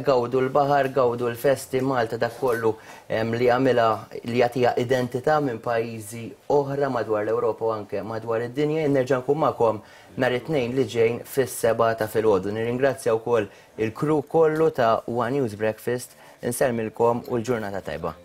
gawdu l-baħar, gawdu l-festi, Malta dak kollu li jagħmilha li jagħtiha identità minn pajjiżi oħra madwar l-Ewropa u anke madwar id-dinja. Jien nerġa' nkun magħkom nhar it-Tnejn li ġejn fis-sebgħa ta' filgħodu. Nirringrazzja wkoll il-crew kollu ta' One News Breakfast. Insellmilkom u l-ġurnata tajba.